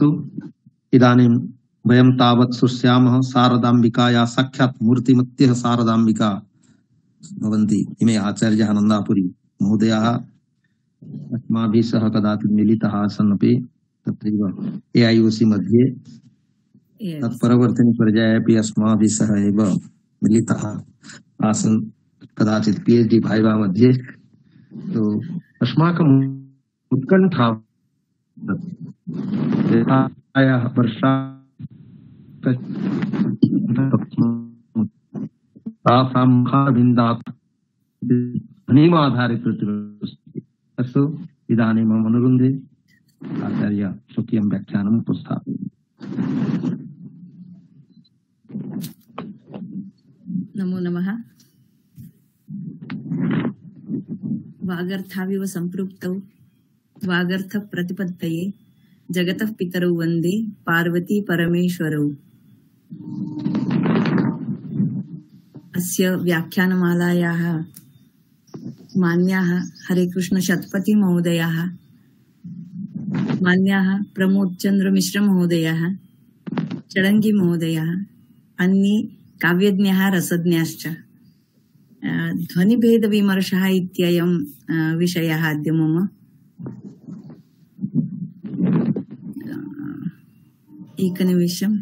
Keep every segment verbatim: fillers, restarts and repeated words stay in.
अस्तु, इदानीं वयं तावत् शुष्यामः शारदाम्बिकाया साक्षात् मूर्तिमत्यः शारदाम्बिका भवन्ति इमे आचार्याः नन्दापुरी महोदयाः अस्माभिः सह कदाचित् मिलितः आसन् अपि तत्रैव ए ऐ ओ सी मध्ये तत्परवर्तिनि पर्याये अपि अस्माभिः सह एव मिलितः आसन् कदाचित् पी एच डी भाइवा मध्ये। तो अस्माकम् उत्कण्ठा वर्षा अस्तु, इदानीं मम अनुरुन्धे आचार्य स्वकीयं व्याख्यानम् उपस्थापयामि। नमो नमः। वागर्थाविव सम्पृक्तौ वागर्थ प्रतिपत्तये जगतः पितरौ वन्दे पार्वती परमेश्वरौ। अस्य व्याख्यानमालायाः मान्याः हरे कृष्ण शतपथी महोदयाः, मान्याः प्रमोद चंद्र मिश्र महोदयाः, चडंगी महोदयाः, अन्ये काव्यज्ञाः रसज्ञाश्च। ध्वनिभेद विमर्शः इत्ययं विषयः अद्य मम। एकनिमिषम्।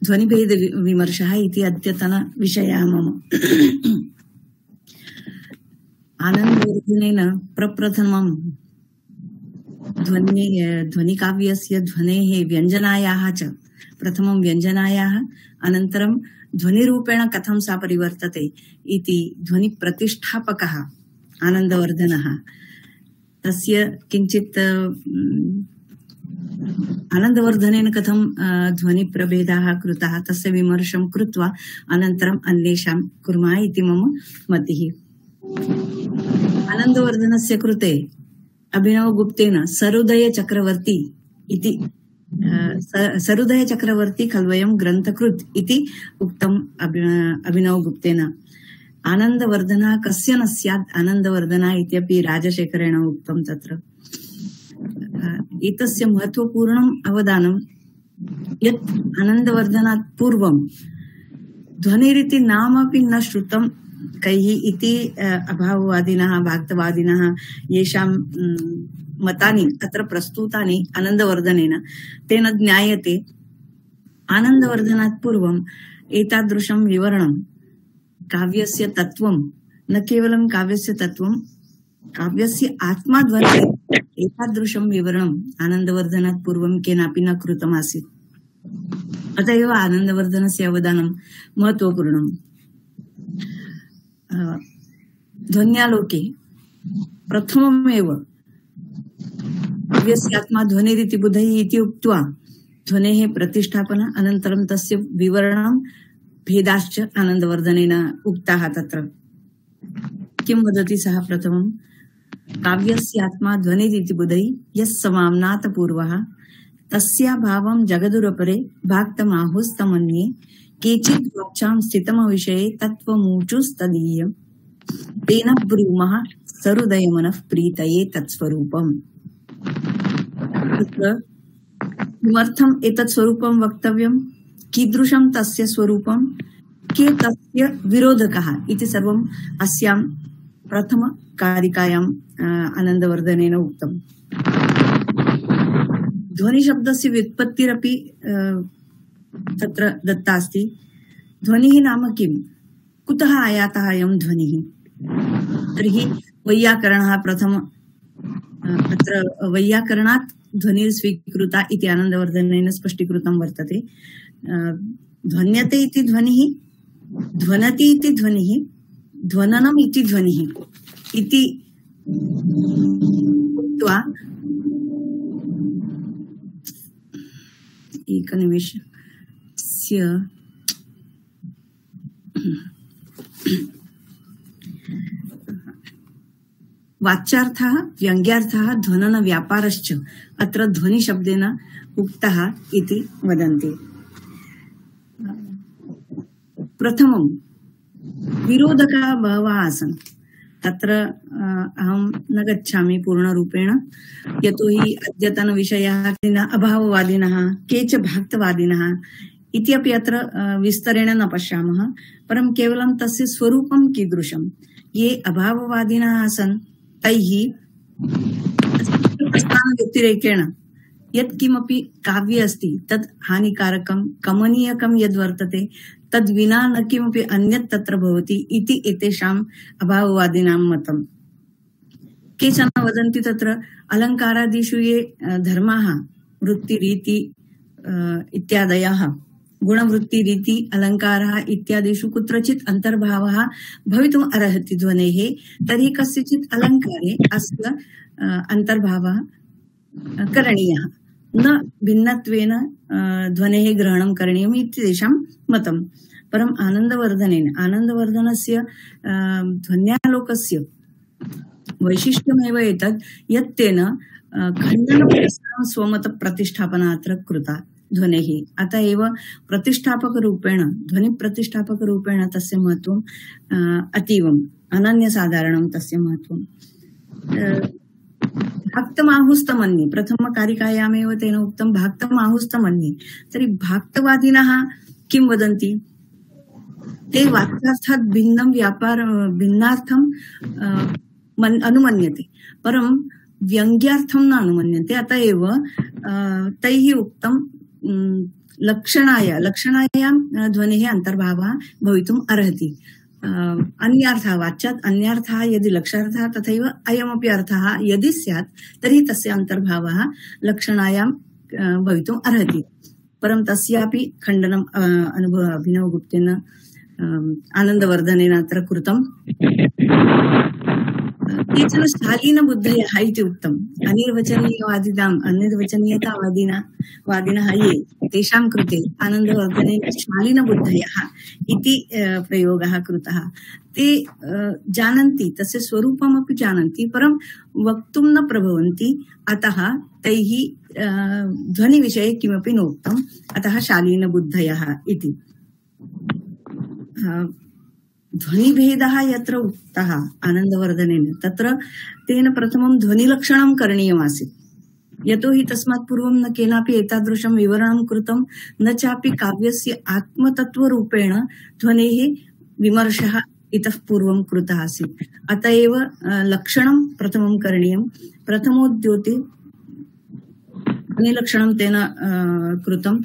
ध्वनिभेद विमर्शः इति अद्यतन विषयः मम। आनन्दवर्धनेन प्रप्रथमं ध्वनि ध्वनिकाव्यस्य ध्वनेः व्यञ्जनायाः च प्रथमं व्यञ्जनायाः अनन्तरं ध्वनिरूपेण कथं सा परिवर्तते इति ध्वनिप्रतिष्ठापकः आनन्दवर्धनः। तस्य किञ्चित् आनन्दवर्धनेन कथं ध्वनिप्रभेदाः कृताः तस्य विमर्शं कृत्वा अनन्तरम् अन्वेषां कुर्मः इति मम मतिः। आनन्दवर्धनस्य कृते अभिनवगुप्तेन सरोदय चक्रवर्ती इति सरोदय चक्रवर्ती खल्वयं ग्रन्थकृत् इति उक्तम् अभिनवगुप्तेन। आनन्दवर्धनः कस्य न स्यात् आनन्दवर्धनः इत्यपि राजशेखरेण उक्तं तत्र। एतस्य महत्वपूर्णम् अवदानं यत् आनन्दवर्धनात् पूर्वं ध्वनिरिति नामपि न श्रुतं कैः इति अभाववादिनः भक्तवादिनः येषां मतानि अत्र प्रस्तुतानि आनन्दवर्धनेन तेन ज्ञायते। आनन्दवर्धनात् पूर्वम् एतादृशं विवरणं काव्यस्य तत्त्वं, न केवलं काव्यस्य तत्त्वं, काव्यस्य आत्मा ध्वनिः एतादृशं विवरणम् आनन्दवर्धनात् पूर्वं केनापि न कृतमासीत्। अत एव आनन्दवर्धनस्य अवदानं महत्वपूर्णम्। ध्वन्यालोके प्रथममेव काव्यस्य आत्मा ध्वनिरिति बुधैः इति उक्त्वा ध्वनेः प्रतिष्ठापन अनन्तरं तस्य विवरणं भेदाश्च आनन्दवर्धनेन उक्ताः। तत्र किं वदति सः? प्रथमं काव्यस्य आत्मा ध्वनिरिति बुधैः यस्समाम्नात पूर्वः तस्याभावं जगदुरपरे भाक्तमाहुस्तमन्ये केचित् वक्षां स्थितमविषये तत्त्वमूचुस्तदीयम् तेन ब्रूमः सरुदयमनः प्रीतये तत्स्वरूपम्। किमर्थम् एतत् स्वरूपं वक्तव्यं, कीदृशं तस्य स्वरूपं, के तस्य विरोधकः इति सर्वम् अस्यां प्रथमकारिकायाम् आनन्दवर्धनेन उक्तम्। ध्वनिशब्दस्य व्युत्पत्तिरपि तत्र दत्ता अस्ति। ध्वनिः नाम किं, कुतः आयातः अयं ध्वनिः? तर्हि वैयाकरणः प्रथम अत्र वैयाकरणात् ध्वनिः स्वीकृता इति आनन्दवर्धनेन स्पष्टीकृतं वर्तते। ध्वन्यते इति ध्वनिः, ध्वनति इति ध्वनिः, ध्वननम् इति ध्वनिः इति उक्त्वा एकनिमिषस्य वाच्यार्थः व्यङ्ग्यार्थः ध्वनन व्यापारश्च अत्र ध्वनिशब्देन उक्तः इति वदन्ति। प्रथमं विरोधकाः बहवः आसन्। तत्र अहं न गच्छामि पूर्णरूपेण, यतोहि अद्यतनविषयाः अभाववादिनः के च भक्तवादिनः इत्यपि अत्र विस्तरेण न पश्यामः, परं केवलं तस्य स्वरूपं कीदृशं। ये अभाववादिनः आसन् तैः प्रस्थानव्यतिरेकेण यत्किमपि काव्ये अस्ति तत् हानिकारकं कमनीयकं यद्वर्तते तद् विना न किमपि अन्यत् तत्र भवति इति एतेषाम् अभाववादिनां मतम्। केचन वदन्ति तत्र अलङ्कारादिषु ये धर्माः वृत्तिरीति इत्यादयः गुणवृत्तिरीति अलङ्कारः इत्यादिषु कुत्रचित् अन्तर्भावः भवितुम् अर्हति ध्वनेः, तर्हि कस्यचित् अलङ्कारे अस्य अन्तर्भावः करणीयः, न भिन्नत्वेन ध्वनेः ग्रहणं करणीयम् इति तेषां मतं। परम् आनन्दवर्धनेन आनन्दवर्धनस्य ध्वन्यालोकस्य वैशिष्ट्यमेव एतत् यत् तेन खण्डनपुरस्सरं स्वमतप्रतिष्ठापना अत्र कृता ध्वनेः। अतः एव प्रतिष्ठापकरूपेण ध्वनिप्रतिष्ठापकरूपेण तस्य महत्त्वम् अतीवम् अनन्यसाधारणं तस्य महत्त्वम्। भाक्तमाहुस्तमन्ये प्रथमकारिकायामेव तेन उक्तं भाक्तमाहुस्तमन्ये। तर्हि भाक्तवादिनः किं वदन्ति? ते वाक्यार्थात् भिन्नं व्यापार भिन्नार्थं अनुमन्यते, परं व्यङ्ग्यार्थं न अनुमन्यन्ते। अतः एव तैः उक्तं लक्षणाय लक्षणायां ध्वनेः अन्तर्भावः भवितुम् अर्हति। अन्यार्थः वाच्यात् अन्यार्थः यदि लक्षार्थः तथैव अयमपि अर्थः यदि स्यात् तर्हि तस्य अन्तर्भावः लक्षणायां भवितुम् अर्हति। परं तस्यापि खण्डनम् अनुभव अभिनवगुप्तेन आनन्दवर्धनेन अत्र कृतम्। केचन शालीनबुद्धयः इति उक्तम्। अनिर्वचनीयवादिनाम् अनिर्वचनीयतावादिनः वादिनः ये तेषां कृते आनन्दवर्धनेन शालीनबुद्धयः इति प्रयोगः कृतः। ते जानन्ति, तस्य स्वरूपमपि जानन्ति, परं वक्तुं न प्रभवन्ति। अतः तैः ध्वनिविषये किमपि नोक्तम्, अतः शालीनबुद्धयः इति। ध्वनिभेदः यत्र उक्तः आनन्दवर्धनेन तत्र तेन प्रथमं ध्वनिलक्षणं करणीयमासीत्, यतोहि तस्मात् पूर्वं न केनापि एतादृशं विवरणं कृतं, न चापि काव्यस्य आत्मतत्त्वरूपेण ध्वनेः विमर्शः इतः पूर्वं कृतः आसीत्। अत एव लक्षणं प्रथमं करणीयं। प्रथमोद्योते ध्वनिलक्षणं तेन कृतं।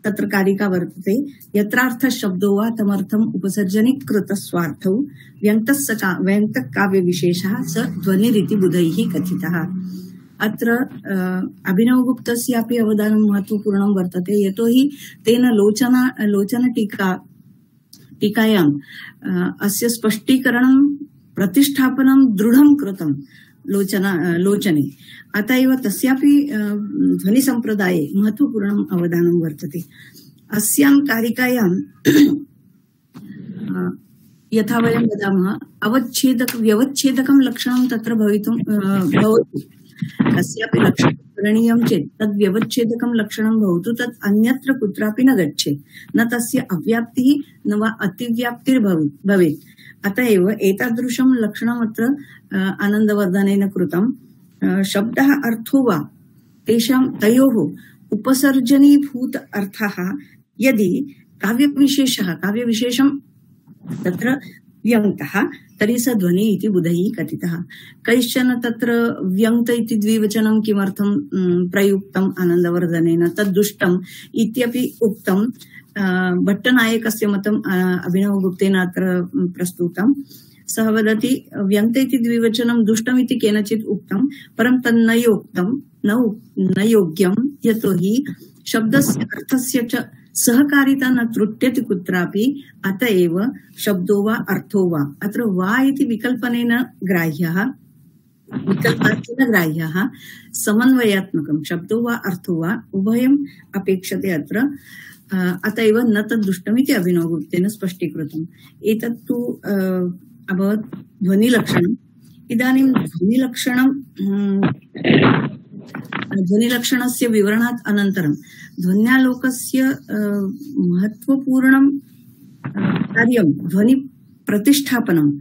तत्र कारिका वर्तते, यत्रार्थः शब्दो वा तमर्थम् उपसर्जनीकृत स्वार्थौ व्यङ्क्तः व्यङ्क्तकाव्यविशेषः स ध्वनिरिति बुधैः कथितः। अत्र अभिनवगुप्तस्यापि अवदानं महत्त्वपूर्णं वर्तते, यतोहि तेन लोचना लोचनटीका टीकायाम् अस्य स्पष्टीकरणं प्रतिष्ठापनं दृढं कृतं लोचना लोचने। अत एव तस्यापि ध्वनिसम्प्रदाये महत्त्वपूर्णम् अवदानं वर्तते। अस्यां कारिकायां यथा वयं वदामः अवच्छेदक व्यवच्छेदकं लक्षणं तत्र भवितुं भवति। कस्यापि लक्षणं करणीयं चेत् तद् व्यवच्छेदकं लक्षणं भवतु, तत् अन्यत्र कुत्रापि न गच्छेत्, न तस्य अव्याप्तिः न वा अतिव्याप्तिर्भवेत्। अत एव एतादृशं लक्षणम् अत्र आनन्दवर्धनेन कृतं। शब्दः अर्थो वा तेषां तयोः उपसर्जनीभूत अर्थः यदि काव्यविशेषः काव्यविशेषं तत्र व्यङ्क्तः तर्हि स ध्वनि इति बुधैः कथितः। कैश्चन तत्र व्यङ्क्त इति द्विवचनं किमर्थं प्रयुक्तम् आनन्दवर्धनेन, तद् दुष्टम् इत्यपि उक्तं। भट्टनायकस्य मतम् अभिनवगुप्तेन अत्र प्रस्तुतम्। सः वदति व्यङ्क्त इति द्विवचनं दुष्टमिति केनचित् उक्तं, परं तन्न योक्तं न योग्यं, यतोहि शब्दस्य अर्थस्य च सहकारिता न त्रुट्यति कुत्रापि। अत एव शब्दो वा अर्थो वा, अत्र वा इति विकल्पनेन ग्राह्यः विकल्पार्थेन ग्राह्यः समन्वयात्मकं शब्दो वा अर्थो वा उभयम् अपेक्षते अत्र। अत एव न तद् दुष्टमिति अभिनवगुप्तेन स्पष्टीकृतम्। एतत्तु अभवत् ध्वनिलक्षणम्। इदानीं ध्वनिलक्षणं ध्वनिलक्षणस्य विवरणात् अनन्तरं ध्वन्यालोकस्य महत्त्वपूर्णं कार्यं ध्वनि प्रतिष्ठापनम्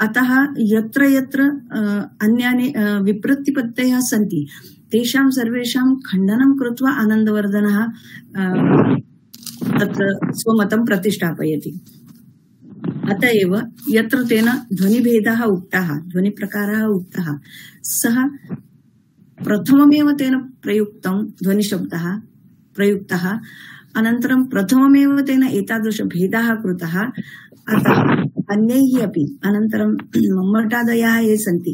अतः यत्र यत्र अन्यानि विप्रतिपत्तयः सन्ति तेषां सर्वेषां खण्डनं कृत्वा आनन्दवर्धनः तत्र स्वमतं प्रतिष्ठापयति। अत एव यत्र तेन ध्वनिभेदः उक्तः ध्वनिप्रकारः उक्तः सः प्रथममेव तेन प्रयुक्तं ध्वनिशब्दः प्रयुक्तः अनन्तरं प्रथममेव तेन एतादृशभेदः कृतः। अतः अन्यैः अपि अनन्तरं मम्मटादयः ये सन्ति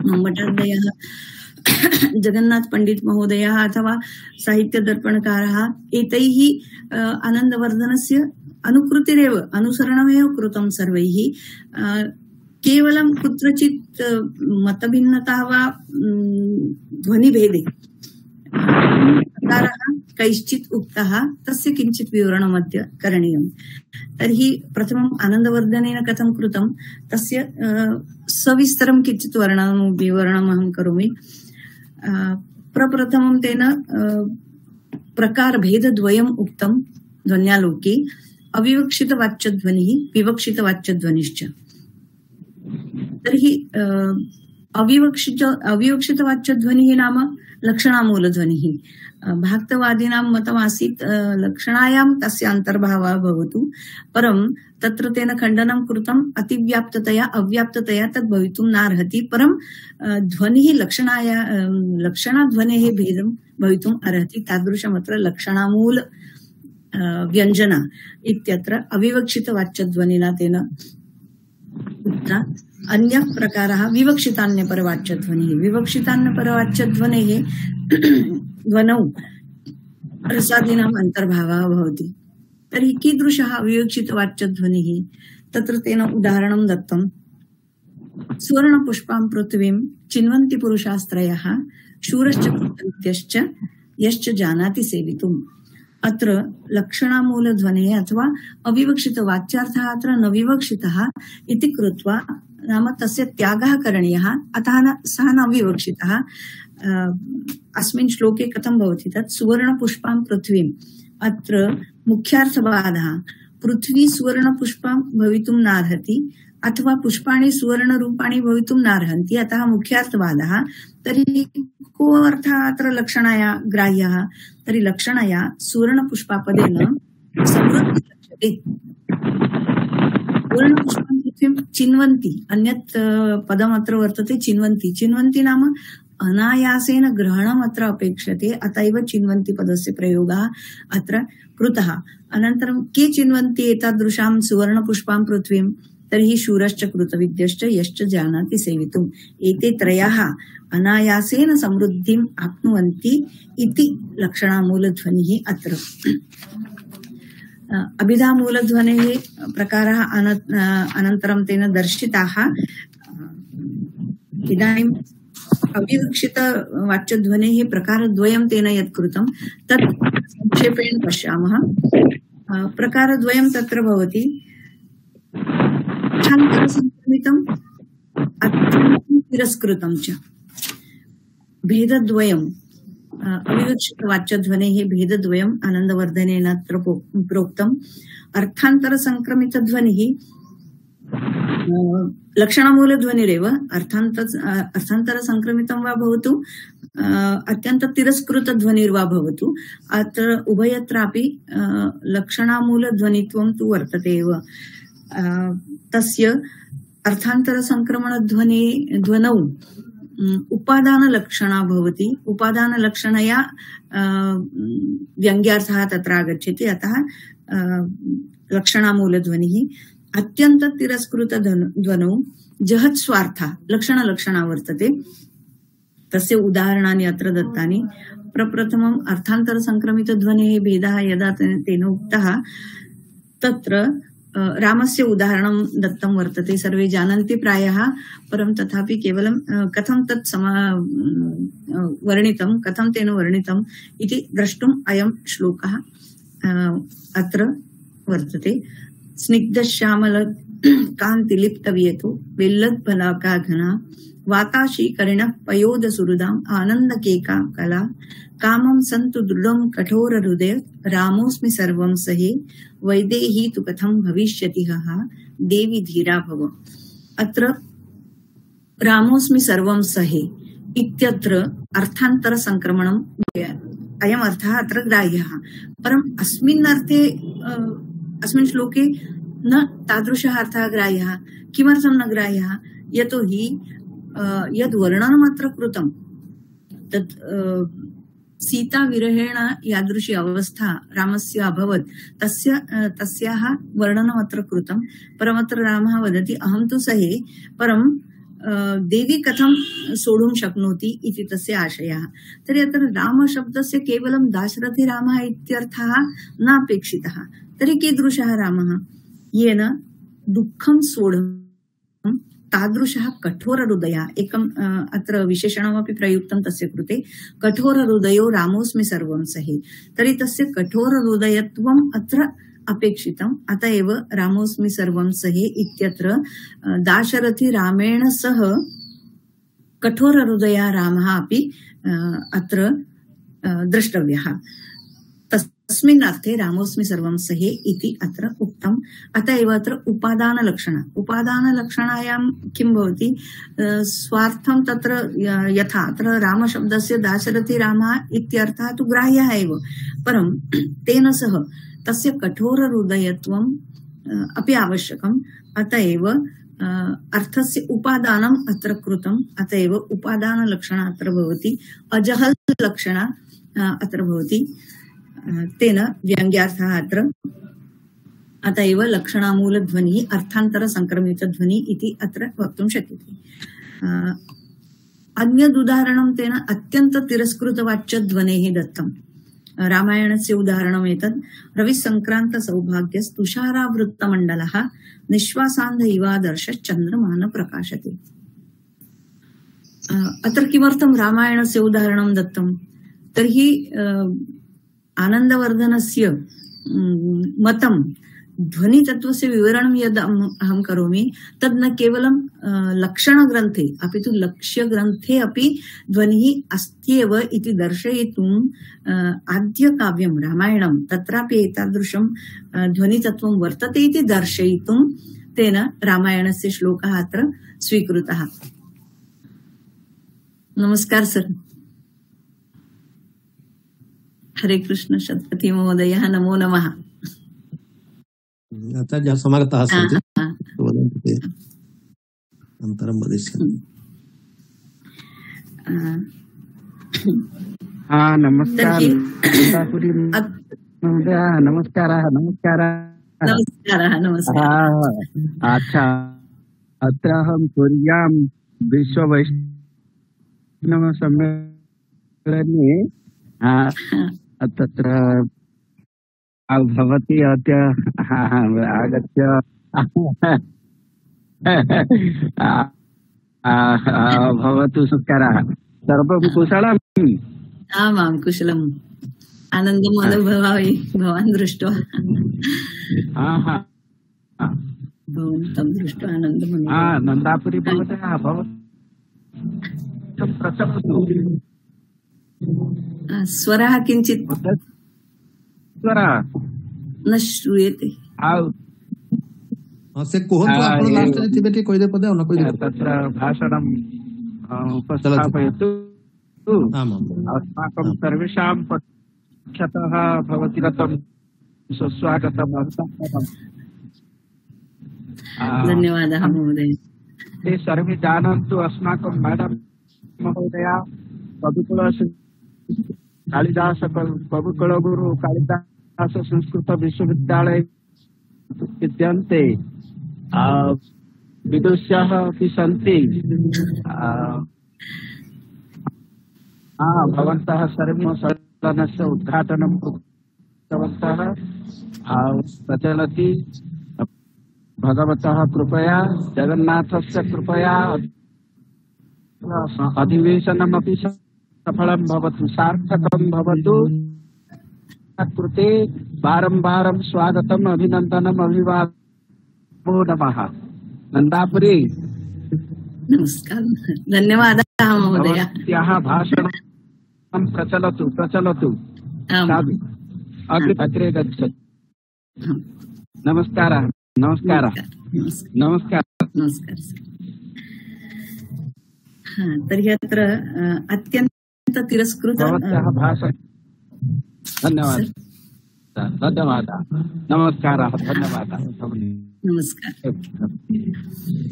मम्मटादयः जगन्नाथ पंडित महोदयः अथवा साहित्यदर्पणकारः एतैः आनन्दवर्धनस्य अनुकृतिरेव अनुसरणमेव कृतं सर्वैः। केवलं कुत्रचित् मतभिन्नता वा ध्वनिभेदे प्रकारः कैश्चित् उक्तः तस्य किञ्चित् विवरणमद्य करणीयम्। तर्हि प्रथमम् आनन्दवर्धनेन कथं कृतं तस्य सविस्तरं किञ्चित् वर्णनं विवरणम् अहं करोमि। प्रप्रथमं तेन प्रकारभेदद्वयम् उक्तं ध्वन्यालोके अविवक्षितवाच्यध्वनिः विवक्षितवाच्यध्वनिश्च। तर्हि अविवक्षित अविवक्षितवाच्यध्वनिः नाम लक्षणामूलध्वनिः। भाक्तवादीनां मतमासीत् लक्षणायां तस्य अन्तर्भावः भवतु परं तत्र तेन खण्डनं कृतम् अतिव्याप्ततया अव्याप्ततया तद् भवितुं नार्हति परं ध्वनिः लक्षणाया लक्षणाध्वनेः भेदं भवितुम् अर्हति तादृशमत्र लक्षणामूल व्यञ्जना इत्यत्र अविवक्षितवाच्यध्वनिना तेन उक्ता। अन्यः प्रकारः विवक्षितान्यपरवाच्यध्वनिः। विवक्षितान्यपरवाच्यध्वनेः ध्वनौ रसादीनाम् अन्तर्भावः भवति। तर्हि कीदृशः अविवक्षितवाच्यध्वनिः तत्र तेन उदाहरणं दत्तं। सुवर्णपुष्पां पृथिवीं चिन्वन्ति पुरुषास्त्रयः शूरश्च कृतविद्यश्च यश्च जानाति सेवितुम्। अत्र लक्षणामूलध्वनेः अथवा अविवक्षितवाच्यार्थः अत्र न विवक्षितः इति कृत्वा नाम तस्य त्यागः करणीयः अतः न सः न विवक्षितः। अस्मिन् श्लोके कथं भवति तत् सुवर्णपुष्पां पृथ्वीम् अत्र मुख्यार्थवादः पृथ्वी सुवर्णपुष्पां भवितुं नार्हति अथवा पुष्पाणि सुवर्णरूपाणि भवितुं नार्हन्ति अतः मुख्यार्थवादः। तर्हि को अर्थः अत्र लक्षणाया ग्राह्यः तर्हि लक्षणया सुवर्णपुष्पापदेन समृद्धिः लक्ष्यते। सुवर्णपुष्पां पृथ्वीं चिन्वन्ति अन्यत् पदमत्र वर्तते चिन्वन्ति। चिन्वन्ति नाम अनायासेन ग्रहणम् अत्र अपेक्षते अत एव चिन्वन्ति पदस्य प्रयोगः अत्र कृतः। अनन्तरं के चिन्वन्ति एतादृशां सुवर्णपुष्पां पृथ्वीं तर्हि शूरश्च कृतविद्यश्च यश्च जानाति सेवितुम्। एते त्रयः अनायासेन समृद्धिम् आप्नुवन्ति इति लक्षणामूलध्वनिः अत्र। अभिधामूलध्वनेः प्रकारः अनन्तरं तेन दर्शिताः। इदानीम् अविवक्षितवाच्यध्वनेः प्रकारद्वयं तेन यत् कृतं तत् संक्षेपेण पश्यामः। प्रकारद्वयं तत्र भवति अर्थान्तरसंक्रमितम् अत्यन्तं तिरस्कृतं च। भेदद्वयम् अविवक्षितवाच्यध्वनेः भेदद्वयम् आनन्दवर्धनेन अत्र प्रोक्तम्। अर्थान्तरसंक्रमितध्वनिः लक्षणमूलध्वनिरेव अर्थान्त अर्थान्तरसंक्रमितं वा भवतु अत्यन्ततिरस्कृतध्वनिर्वा भवतु अत्र उभयत्रापि लक्षणामूलध्वनित्वं तु वर्तते एव। तस्य अर्थान्तरसंक्रमणध्वनि ध्वनौ उपादानलक्षणा भवति। उपादानलक्षणया व्यङ्ग्यार्थः तत्र आगच्छति अतः लक्षणामूलध्वनिः। अत्यन्ततिरस्कृतध्वनौ जहत्स्वार्था लक्षणलक्षणा वर्तते। तस्य उदाहरणानि अत्र दत्तानि। प्रप्रथमम् अर्थान्तरसंक्रमितध्वनेः भेदः यदा तेन उक्तः तत्र रामस्य उदाहरणं दत्तं वर्तते। सर्वे जानन्ति प्रायः परं तथापि केवलं कथं तत् समा वर्णितं कथं तेन वर्णितम् इति द्रष्टुम् अयं श्लोकः अत्र वर्तते। स्निग्धश्यामल कान्तिलिप्तवियतो विल्लद्फलाका घना वाताशीकरिणः पयोदसुहृदाम् आनन्दकेका कला कामं सन्तु दृढं कठोरहृदय रामोऽस्मि सर्वं सहे वैदेही तु कथं भविष्यति हः देवी धीरा भव। अत्र रामोऽस्मि सर्वं सहे इत्यत्र अर्थान्तर संक्रमणं अयम् अर्थः अत्र ग्राह्यः। परम् अस्मिन् अर्थे अस्मिन् श्लोके न तादृशः अर्थः ग्राह्यः। किमर्थं न ग्राह्यः? यतोहि यद् वर्णनम् अत्र कृतं तत् सीता विरहेण यादृशी अवस्था रामस्य अभवत् तस्य तस्याः वर्णनम् अत्र कृतं। परमत्र रामः वदति अहं तु सहे, परं देवी कथं सोढुं शक्नोति इति तस्य आशयः। तर्हि अत्र रामशब्दस्य केवलं दाशरथी रामः इत्यर्थः नापेक्षितः। तर्हि कीदृशः रामः? येन दुःखं सोढुं तादृशः कठोरहृदयः। एकम् अत्र विशेषणमपि प्रयुक्तं तस्य कृते, कठोरहृदयो रामोऽस्मि सर्वं सहे। तर्हि तस्य कठोरहृदयत्वम् अत्र अपेक्षितम्। अत एव रामोऽस्मि सर्वं सहे इत्यत्र दाशरथी रामेण सह कठोरहृदयः रामः अपि अत्र द्रष्टव्यः। तस्मिन् अर्थे रामोऽस्मि सर्वं सहे इति अत्र उक्तम्। अत एव अत्र उपादानलक्षण उपादानलक्षणायां किं भवति? स्वार्थं तत्र यथा अत्र रामशब्दस्य दाशरथी रामः इत्यर्थः तु ग्राह्यः एव, परं तेन सह तस्य कठोरहृदयत्वम् अपि आवश्यकम्। अत एव अर्थस्य उपादानम् अत्र कृतम्। अत एव उपादानलक्षण अत्र भवति, अजहल लक्षण अत्र भवति, तेन व्यङ्ग्यार्थः अत्र। अत एव लक्षणामूलध्वनिः अर्थान्तर संक्रमितध्वनिः इति अत्र वक्तुं शक्यते। अन्यदुदाहरणं तेन अत्यन्त तिरस्कृतवाच्यध्वनेः दत्तम्। रामायणस्य उदाहरणम् एतत्। रविसङ्क्रान्त सौभाग्यस्तुषारावृत्तमण्डलः निश्वासान्ध इवादर्श चन्द्रमान प्रकाशते। अत्र किमर्थं रामायणस्य उदाहरणं दत्तं? तर्हि आनन्दवर्धनस्य मतं ध्वनितत्त्वस्य विवरणं यद् अहं करोमि तद् न केवलं लक्षणग्रन्थे अपि तु लक्ष्यग्रन्थे अपि ध्वनिः अस्त्येव इति दर्शयितुम् आद्यकाव्यं रामायणं तत्रापि एतादृशं ध्वनितत्त्वं वर्तते इति दर्शयितुं तेन रामायणस्य श्लोकः अत्र स्वीकृतः। नमस्कार सर। हरे कृष्ण शतपथी महोदयः, नमो नमः। आचार्यः समागताः सन्ति, वदन्तु ते अनन्तरं वदिष्यामि। नमस्कार नमस्कारः नमस्कारः नमस्कारः नमस्कारः। अच्छा, अत्र अहं पुर्यां विश्ववैष्णवसम्मेलने तत्र भवती अद्य आगत्य भवतु सुस्कारः। सर्वं कुशलम्? आमां कुशलम्। आनन्दम् अनुभवामि भवान् दृष्ट्वा। भवन्तं दृष्ट्वा आनन्दम् अनुभवामि। नन्दापुरी भवतः भवतं प्रचलतु। स्वरः किञ्चित् स्वरः न श्रूयते। से कुहन्तु आपण लास्टरे थिबे टी कहि दे पदे न कहि दे तत्र भाषणं उपस्थापयतु। अस्माकं सर्वेषां पक्षतः भवति रतं सुस्वागतम्। धन्यवादः महोदय। ते सर्वे जानन्तु अस्माकं मैडम महोदया कविकुल कालिदास कविकुलगुरु कालिदास संस्कृत विश्वविद्यालय विद्यन्ते विदुष्याः अपि सन्ति। भवन्तः सर्वे सदनस्य उद्घाटनं कृतवन्तः। प्रचलति भगवतः कृपया, जगन्नाथस्य कृपया अधिवेशनमपि सफलं भवतु, सार्थकं भवतु। कृते बारं बारं स्वागतम्, अभिनन्दनम्, अभिवादनम् नमो नमः। नन्दापुरी नमस्कार, धन्यवादः महोदय। भवत्याः भाषणं प्रचलतु प्रचलतु। आम्। साधु अग्रे अग्रे गच्छतु। आम्। नमस्कारः नमस्कारः नमस्कार नमस्कारः। नमस्कार। हा, तर्हि अत्र अ, अत्यन्त तिरस्कृत भवत्याः अ, भाषण धन्यवादः धन्यवादः नमस्कारः धन्यवादः। नमस्कार।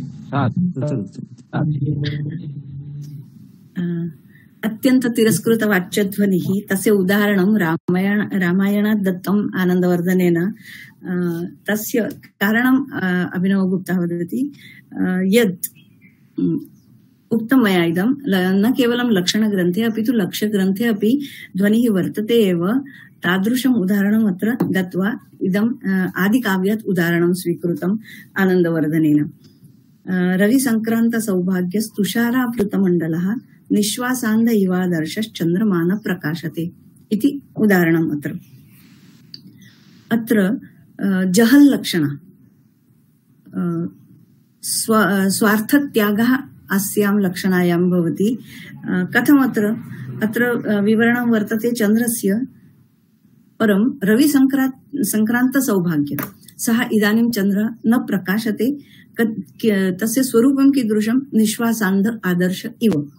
साधु चलो, चलो. साधु। अ, अत्यंत तिरस्कृत वाच्यध्वनिः तस्य उदाहरणं रामायण रामायणात् दत्तम् आनन्दवर्धनेन। अ, तस्य कारणम् अ, अभिनवगुप्तः वदति अ, यत् उम्, उक्तं मया इदं ल- न केवलं लक्षणग्रन्थे अपि तु लक्ष्यग्रन्थे अपि ध्वनिः वर्तते एव। तादृशम् उदाहरणम् अत्र दत्वा इदम् अ, आदिकाव्यात् उदाहरणं स्वीकृतम् आनन्दवर्धनेन। अ, रविसङ्क्रान्त सौभाग्यस्तुषारावृतमण्डलः निश्वासान्ध इवादर्शश्चन्द्रमान प्रकाशते इति उदाहरणम् अत्र। अत्र अ, जहल् लक्षण अ, स्व स्वार्थत्यागः अस्यां लक्षणायां भवति। अ, कथमत्र अत्र अ, विवरणं वर्तते चन्द्रस्य, परं रविसङ्क्रान्त सङ्क्रान्त सौभाग्य सः इदानीं चन्द्रः न प्रकाशते। क- क- तस्य स्वरूपं कीदृशं निश्वासान्ध आदर्श इव।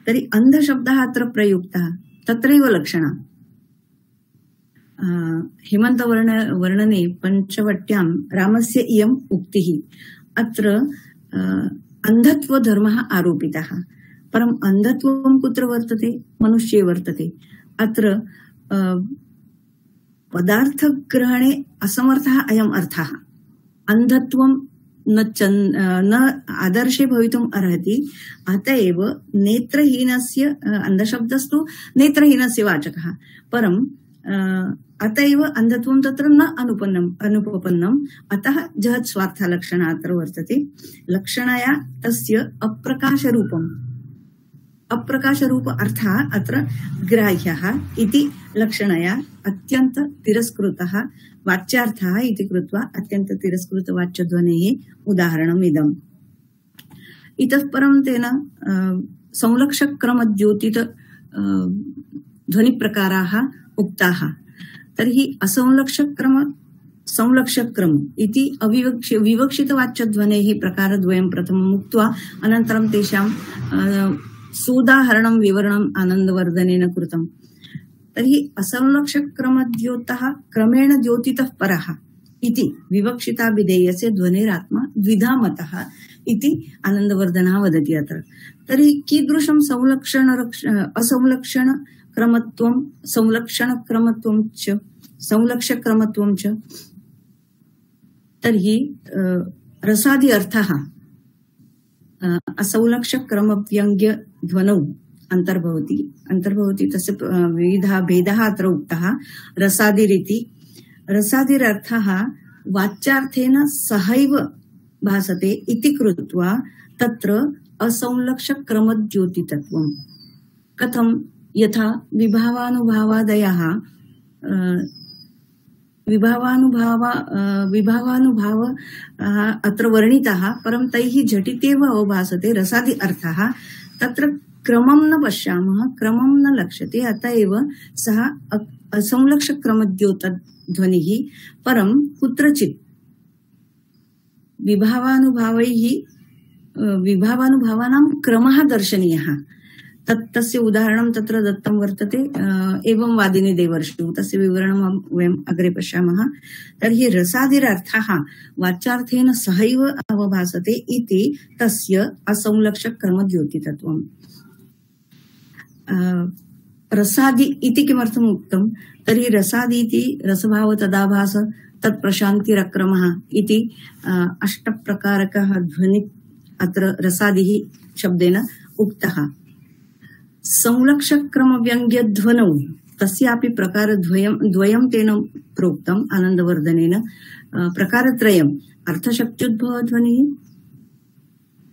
तर्हि अन्धशब्दः अत्र प्रयुक्तः, तत्रैव लक्षणम्। अ, हेमन्तवर्ण वर्णने पञ्चवट्यां रामस्य इयम् उक्तिः। अत्र अ, अन्धत्वधर्मः आरोपितः, परम् अन्धत्वं कुत्र वर्तते? मनुष्ये वर्तते। अत्र अ, पदार्थग्रहणे असमर्थः अयम् अर्थः। अन्धत्वं न चन् न आदर्शे भवितुम् अर्हति। अत एव नेत्रहीनस्य अ, अन्धशब्दस्तु नेत्रहीनस्य वाचकः, परम् अ, अत एव अन्धत्वं तत्र न अनुपन्नम् अनुपपन्नम्। अतः जहत् स्वार्थलक्षण अत्र वर्तते। लक्षणया तस्य अप्रकाशरूपम् अप्रकाशरूप अर्थः अत्र ग्राह्यः इति लक्षणया अत्यन्त तिरस्कृतः वाच्यार्थः इति कृत्वा अत्यन्त तिरस्कृत वाच्यध्वनेः उदाहरणम् इदम्। इतः परं तेन अ, संलक्षक्रमद्योतित अ, ध्वनिप्रकाराः उक्ताः। तर्हि असंलक्षक्रम संलक्षक्रम इति अविवक्ष विवक्षितवाच्यध्वनेः प्रकारद्वयं प्रथमम् उक्त्वा अनन्तरं तेषां अ, सोदाहरणं विवरणम् आनन्दवर्धनेन कृतम्। तर्हि असंलक्षक्रमद्योतः क्रमेण द्योतितः परः इति विवक्षिता विधेयस्य ध्वनिरात्मा द्विधा मतः इति आनन्दवर्धनः वदति अत्र। तर्हि कीदृशं संलक्षण असंलक्षण क्रमत्वं संलक्षणक्रमत्वं च संलक्षक्रमत्वं च। तर्हि अ, रसादि अर्थः असंलक्षक्रमव्यङ्ग्य ध्वनौ अन्तर्भवति अन्तर्भवति तस्य अ, विविधः भेदः अत्र उक्तः। रसादिरिति रसादिरर्थः वाच्यार्थेन सहैव भासते इति कृत्वा तत्र असंलक्षक्रमद्योतितत्वम्। कथं? यथा विभावानुभावादयः अ, विभावानुभाव अ, विभावानुभाव अ, अत्र वर्णितः, परं तैः झटित्येव अवभासते रसादि अर्थः। तत्र क्रमं न पश्यामः, क्रमं न लक्ष्यते, अत एव सः असंलक्षक्रमद्योतध्वनिः। परं कुत्रचित् विभावानुभावैः अ, विभावानुभावानां क्रमः दर्शनीयः। तत् तस्य उदाहरणं तत्र दत्तं वर्तते। अ, एवं वादिनी देवर्षु, तस्य विवरणं वयम् अग्रे पश्यामः। तर्हि रसादिरर्थः वाच्यार्थेन सहैव अवभासते इति तस्य असंलक्षक्रमद्योतितत्वम्। अ, रसादि इति किमर्थम् उक्तं? तर्हि रसादि इति रसभाव तदाभास तत्प्रशान्तिरक्रमः इति अ, अष्टप्रकारकः ध्वनि अत्र रसादिः शब्देन उक्तः। संलक्षक्रमव्यङ्ग्यध्वनौ तस्यापि प्रकारद्वयं द्वयं तेन प्रोक्तम् आनन्दवर्धनेन। अ, प्रकारत्रयम् अर्थशक्त्युद्भवध्वनिः,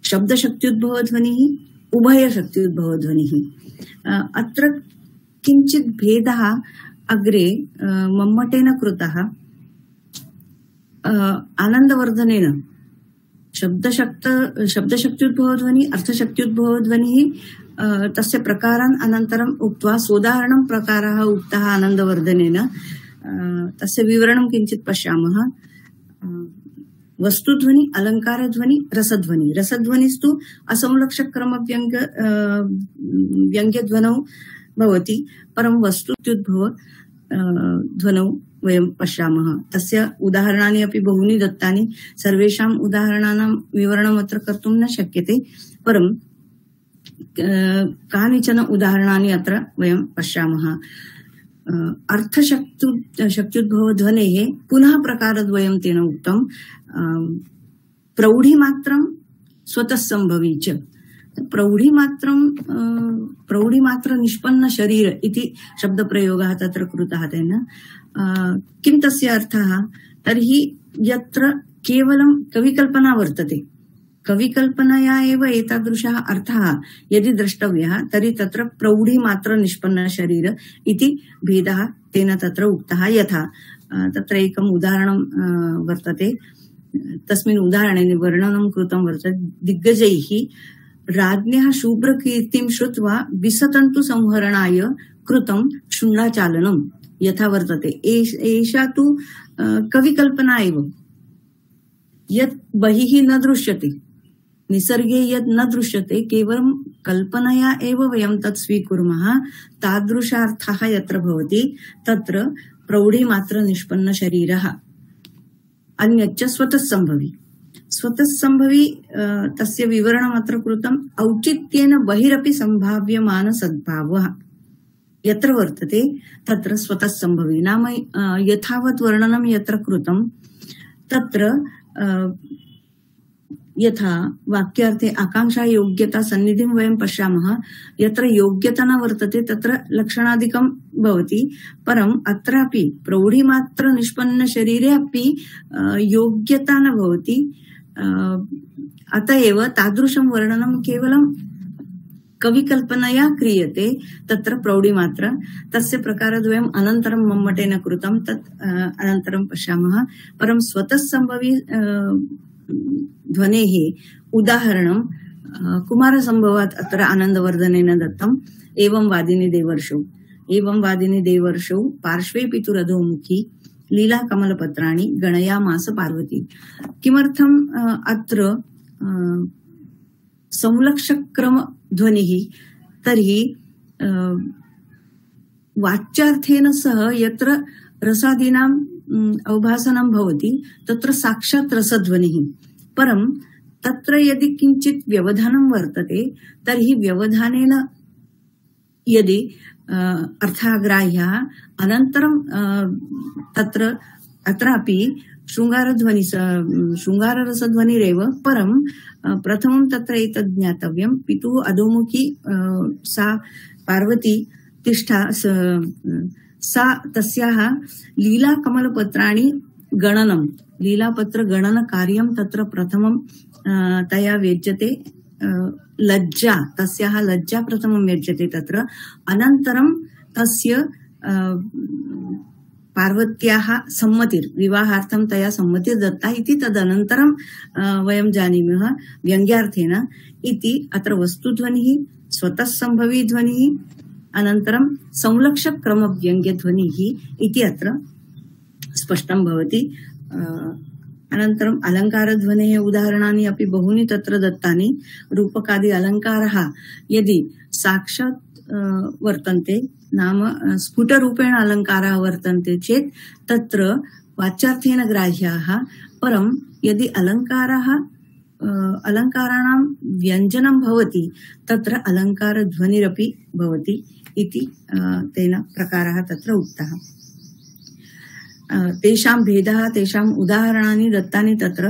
शब्दशक्त्युद्भवध्वनिः, उभयशक्त्युद्भवध्वनिः। अ, अत्र किञ्चित् भेदः अग्रे अ, मम्मटेन कृतः। आनन्दवर्धनेन शब्दशक्त शब्दशक्त्युद्भवध्वनि अर्थशक्त्युद्भवध्वनिः तस्य प्रकारान् अनन्तरम् उक्त्वा सोदाहरणं प्रकारः उक्तः आनन्दवर्धनेन तस्य विवरणं किञ्चित् पश्यामः। वस्तुध्वनि, अलङ्कारध्वनि, रसध्वनि। रसध्वनिस्तु असंलक्षक्रमव्यङ्ग व्यङ्ग्यध्वनौ भवति, परं वस्तुत्युद्भव ध्वनौ वयं पश्यामः। तस्य उदाहरणानि अपि बहूनि दत्तानि, सर्वेषाम् उदाहरणानां विवरणम् अत्र कर्तुं न शक्यते, परं कानिचन उदाहरणानि अत्र वयं पश्यामः। अर्थशक्तु शक्त्युद्भवध्वनेः पुनः प्रकारद्वयं तेन उक्तं, प्रौढिमात्रं स्वतः सम्भवी च। प्रौढिमात्रं प्रौढिमात्र निष्पन्न शरीर इति शब्दप्रयोगः तत्र कृतः तेन। किं तस्य अर्थः? तर्हि यत्र केवलं कविकल्पना वर्तते, कविकल्पनया एव एतादृशः अर्थः यदि द्रष्टव्यः तर्हि तत्र प्रौढिमात्र निष्पन्न शरीर इति भेदः तेन तत्र उक्तः। यथा तत्र एकम् उदाहरणं वर्तते, तस्मिन् उदाहरणे वर्णनं कृतं वर्तते। दिग्गजैः राज्ञः शुभ्रकीर्तिं श्रुत्वा विसतन्तु संहरणाय कृतं शुण्डाचालनं यथा वर्तते। एषा तु कविकल्पना एव, यत् बहिः न दृश्यते, निसर्गे यत् न दृश्यते, केवलं कल्पनया एव वयं तत् स्वीकुर्मः, तादृशार्थः यत्र भवति तत्र प्रौढिमात्र निष्पन्न शरीरः। अन्यच्च स्वतः सम्भवी। स्वतः सम्भवी तस्य विवरणम् अत्र कृतम्। औचित्येन बहिरपि सम्भाव्यमान सद्भावः यत्र वर्तते तत्र स्वतः सम्भवी। नाम यथावत् वर्णनं यत्र कृतं तत्र यथा वाक्यार्थे आकांक्षा योग्यता सन्निधिं वयं पश्यामः, यत्र योग्यता न वर्तते तत्र लक्षणादिकं भवति, परम् अत्रापि प्रौढिमात्र निष्पन्न शरीरे अपि योग्यता न भवति। अतएव तादृशं वर्णनं केवलं कविकल्पनया क्रियते तत्र प्रौढिमात्र। तस्य प्रकारद्वयम् अनन्तरं मम्मटेन कृतं, तत् अनन्तरं पश्यामः। परं स्वतः सम्भवी ध्वनेः उदाहरणं कुमारसम्भवात् अत्र आनन्दवर्धनेन दत्तम्। एवं वादिनी देवर्षौ, एवं वादिनी देवर्षौ पार्श्वे पितुरधोमुखी लीला कमलपत्राणि गणयामास पार्वती। किमर्थम् अत्र संलक्षक्रम ध्वनिः? तर्हि वाच्यार्थेन सह यत्र रसादीनाम् अवभासनं भवति तत्र साक्षात् रसध्वनिः, परं तत्र यदि किञ्चित् व्यवधानं वर्तते तर्हि व्यवधानेन यदि अर्थाग्राह्यः अनन्तरं तत्र अत्रापि शृङ्गारध्वनि शृङ्गाररसध्वनिरेव, परं प्रथमं तत्र एतद् ज्ञातव्यं, पितुः अधोमुखी सा पार्वती तिष्ठा, सा तस्याः लीलाकमलपत्राणि गणनं, लीलापत्रगणनकार्यं तत्र प्रथमं तया व्यज्यते। लज्जा, तस्याः लज्जा प्रथमं व्यज्यते तत्र, अनन्तरं तस्य पार्वत्याः सम्मतिर्, विवाहार्थं तया सम्मतिर्दत्ता इति तदनन्तरं वयं जानीमः व्यङ्ग्यार्थेन इति। अत्र वस्तुध्वनिः, स्वतः सम्भवी ध्वनिः, अनन्तरं संलक्षक्रमव्यङ्ग्यध्वनिः इति अत्र स्पष्टं भवति। अनन्तरम् अलङ्कारध्वनेः उदाहरणानि अपि बहूनि तत्र दत्तानि। रूपकादि अलङ्कारः यदि साक्षात् वर्तन्ते, नाम स्फुटरूपेण अलङ्काराः वर्तन्ते चेत् तत्र वाच्यार्थेन ग्राह्याः, परं यदि अलङ्काराः अलङ्काराणां व्यञ्जनं भवति तत्र अलङ्कारध्वनिरपि भवति इति तेन प्रकारः तत्र उक्तः। तेषां भेदः, तेषाम् उदाहरणानि दत्तानि तत्र।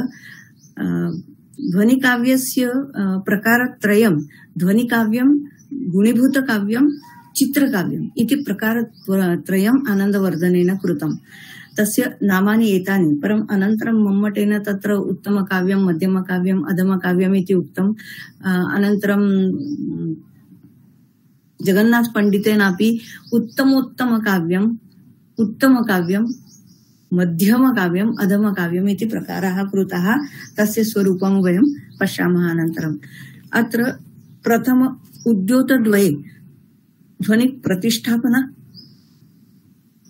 ध्वनिकाव्यस्य प्रकारत्रयं, ध्वनिकाव्यं, गुणीभूतकाव्यं, चित्रकाव्यम् इति प्रकारत्रयम् आनन्दवर्धनेन कृतम्। तस्य नामानि एतानि, परम् अनन्तरं मम्मटेन तत्र उत्तमकाव्यं, मध्यमकाव्यम्, अधमकाव्यम् इति उक्तम्। अनन्तरं जगन्नाथ पण्डितेनापि उत्तमोत्तमकाव्यम्, उत्तमकाव्यं, मध्यमकाव्यम् अधमकाव्यम् इति प्रकाराः कृताः। तस्य स्वरूपं वयं पश्यामः अनन्तरम्। अत्र प्रथम उद्योतद्वये ध्वनि प्रतिष्ठापन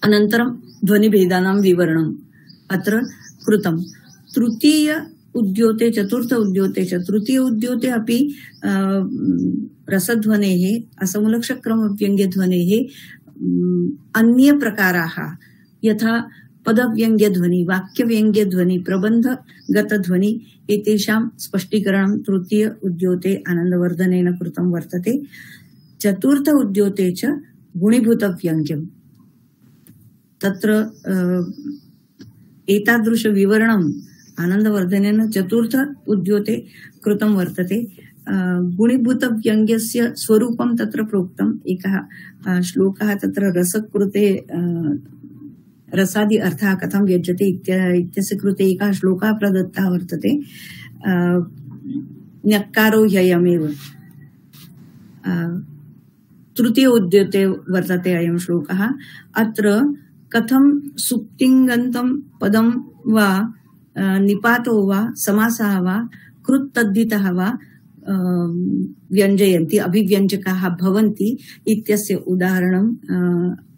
अनन्तरं ध्वनिभेदानां विवरणम् अत्र कृतम्। तृतीय उद्योते चतुर्थ उद्योते च तृतीय उद्योते अपि रसध्वनेः असमलक्षक्रमव्यङ्ग्यध्वनेः अन्ये प्रकाराः यथा पदव्यङ्ग्यध्वनि, वाक्यव्यङ्ग्यध्वनि, प्रबन्धगतध्वनि एतेषां स्पष्टीकरणं तृतीय उद्योते आनन्दवर्धनेन कृतं वर्तते। चतुर्थ उद्योते च गुणीभूतव्यङ्ग्यम् तत्र एतादृश विवरणम् आनन्दवर्धनेन चतुर्थ उद्योते कृतं वर्तते। गुणीभूतव्यङ्ग्यस्य स्वरूपं तत्र प्रोक्तम्। एकः श्लोकः तत्र रसकृते रसादि अर्थः कथं व्यज्यते इत्यस्य कृते एकः श्लोकः प्रदत्तः वर्तते। न्यक्कारो ह्ययमेव तृतीय उद्योते वर्तते अयं श्लोकः। अत्र कथं सुप्तिङन्तं पदं वा निपातो वा समासः वा कृत्तद्धितः वा व्यञ्जयन्ति अभिव्यञ्जकाः भवन्ति इत्यस्य उदाहरणम्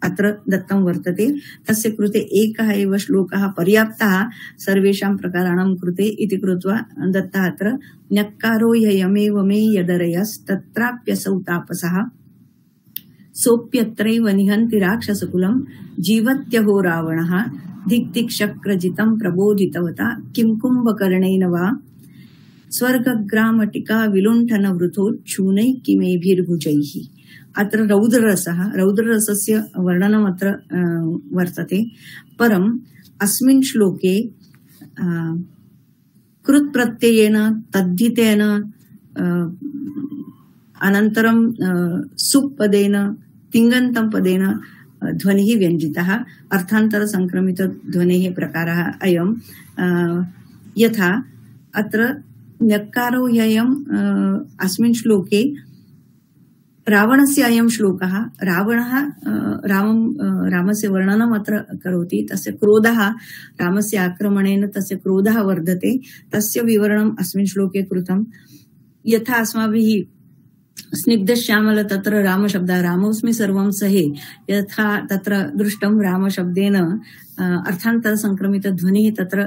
अत्र दत्तं वर्तते। तस्य कृते एकः एव श्लोकः पर्याप्तः सर्वेषां प्रकाराणां कृते इति कृत्वा दत्तः अत्र न्यक्कारो ह्ययमेव मे यदरयस्तत्राप्यसौ तापसः सोऽप्यत्रैव निहन्ति राक्षसकुलं जीवत्यहो रावणः दिक्तिक्शक्रजितं प्रबोधितवता किं कुम्भकर्णेन वा स्वर्गग्रामटिका विलुण्ठनवृथोच्छूनैः किमेभिर्भुजैः। अत्र रौद्ररसः रौद्ररसस्य वर्णनम् अत्र वर्तते। परम् अस्मिन् श्लोके कृत्प्रत्ययेन तद्धितेन अनन्तरं सुपदेन तिङन्तं पदेन ध्वनिः व्यञ्जितः। अर्थान्तर संक्रमित ध्वनेः प्रकारः अयम्। यथा अत्र न्यक्कारो ह्ययम् अस्मिन् श्लोके रावणस्य अयं श्लोकः। रावणः रामं रामस्य वर्णनम् अत्र करोति। तस्य क्रोधः रामस्य आक्रमणेन तस्य क्रोधः वर्धते। तस्य विवरणम् अस्मिन् श्लोके कृतम्। यथा अस्माभिः स्निग्धश्यामल तत्र रामशब्दः रामोऽस्मि सर्वं सहे यथा तत्र दृष्टं रामशब्देन अर्थान्तर संक्रमित ध्वनिः तत्र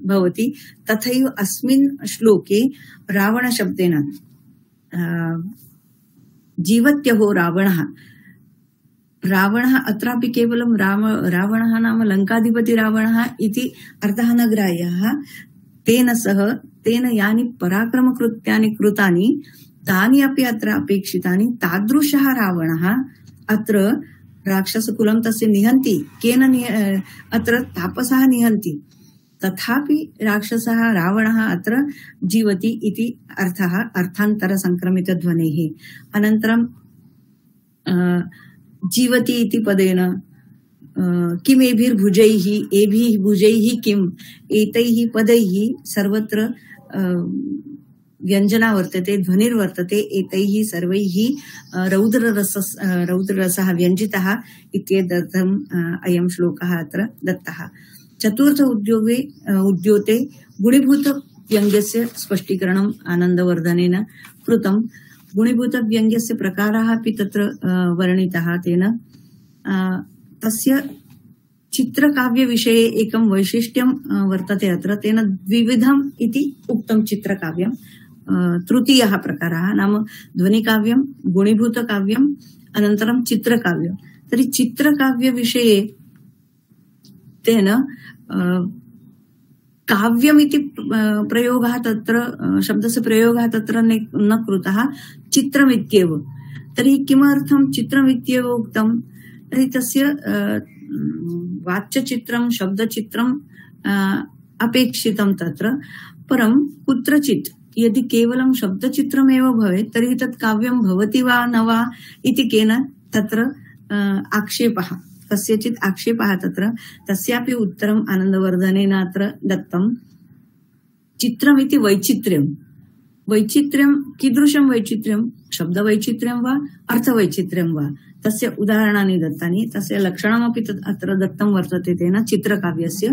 भवति तथैव अस्मिन् श्लोके रावण शब्देन जीवत्यहो रावणः रावणः अत्रापि केवलं राम रावणः नाम लङ्काधिपति रावणः इति अर्थः न ग्राह्यः। तेन सह तेन यानि पराक्रमकृत्यानि कृतानि तानि अपि अत्र अपेक्षितानि। तादृशः रावणः अत्र राक्षसकुलं तस्य निहन्ति। केन अत्र तापसः निहन्ति तथापि राक्षसः रावणः अत्र जीवति इति अर्थः अर्थान्तर संक्रमित ध्वनेः। अनन्तरं जीवति इति पदेन किमेभिर्भुजैः एभिः भुजैः किम् एतैः पदैः सर्वत्र व्यञ्जना वर्तते ध्वनिर्वर्तते। एतैः सर्वैः रौद्ररस रौद्ररसः व्यञ्जितः इत्येतदर्थम् अयं श्लोकः अत्र दत्तः। चतुर्थ उद्योगे उद्योते गुणीभूतव्यङ्ग्यस्य स्पष्टीकरणम् आनन्दवर्धनेन कृतम्। गुणीभूतव्यङ्ग्यस्य प्रकाराः अपि तत्र वर्णिताः तेन। तस्य चित्रकाव्यविषये एकं वैशिष्ट्यं वर्तते अत्र। तेन द्विविधम् इति उक्तं चित्रकाव्यं। तृतीयः प्रकारः नाम ध्वनिकाव्यं गुणीभूतकाव्यम् अनन्तरं चित्रकाव्यं। तर्हि चित्रकाव्यविषये तेन काव्यमिति प्रयोगः तत्र शब्दस्य प्रयोगः तत्र न कृतः चित्रमित्येव। तर्हि किमर्थं चित्रमित्येव उक्तं तर्हि तस्य वाच्यचित्रं शब्दचित्रम् अपेक्षितं तत्र। परं कुत्रचित् यदि केवलं शब्दचित्रमेव भवेत् तर्हि तत् काव्यं भवति वा न वा इति केन तत्र आक्षेपः कस्यचित् आक्षेपः तत्र। तस्यापि उत्तरम् आनन्दवर्धनेन अत्र दत्तं। चित्रमिति वैचित्र्यं वैचित्र्यं कीदृशं वैचित्र्यं शब्दवैचित्र्यं वा अर्थवैचित्र्यं वा तस्य उदाहरणानि दत्तानि तस्य लक्षणमपि तत् अत्र दत्तं वर्तते तेन चित्रकाव्यस्य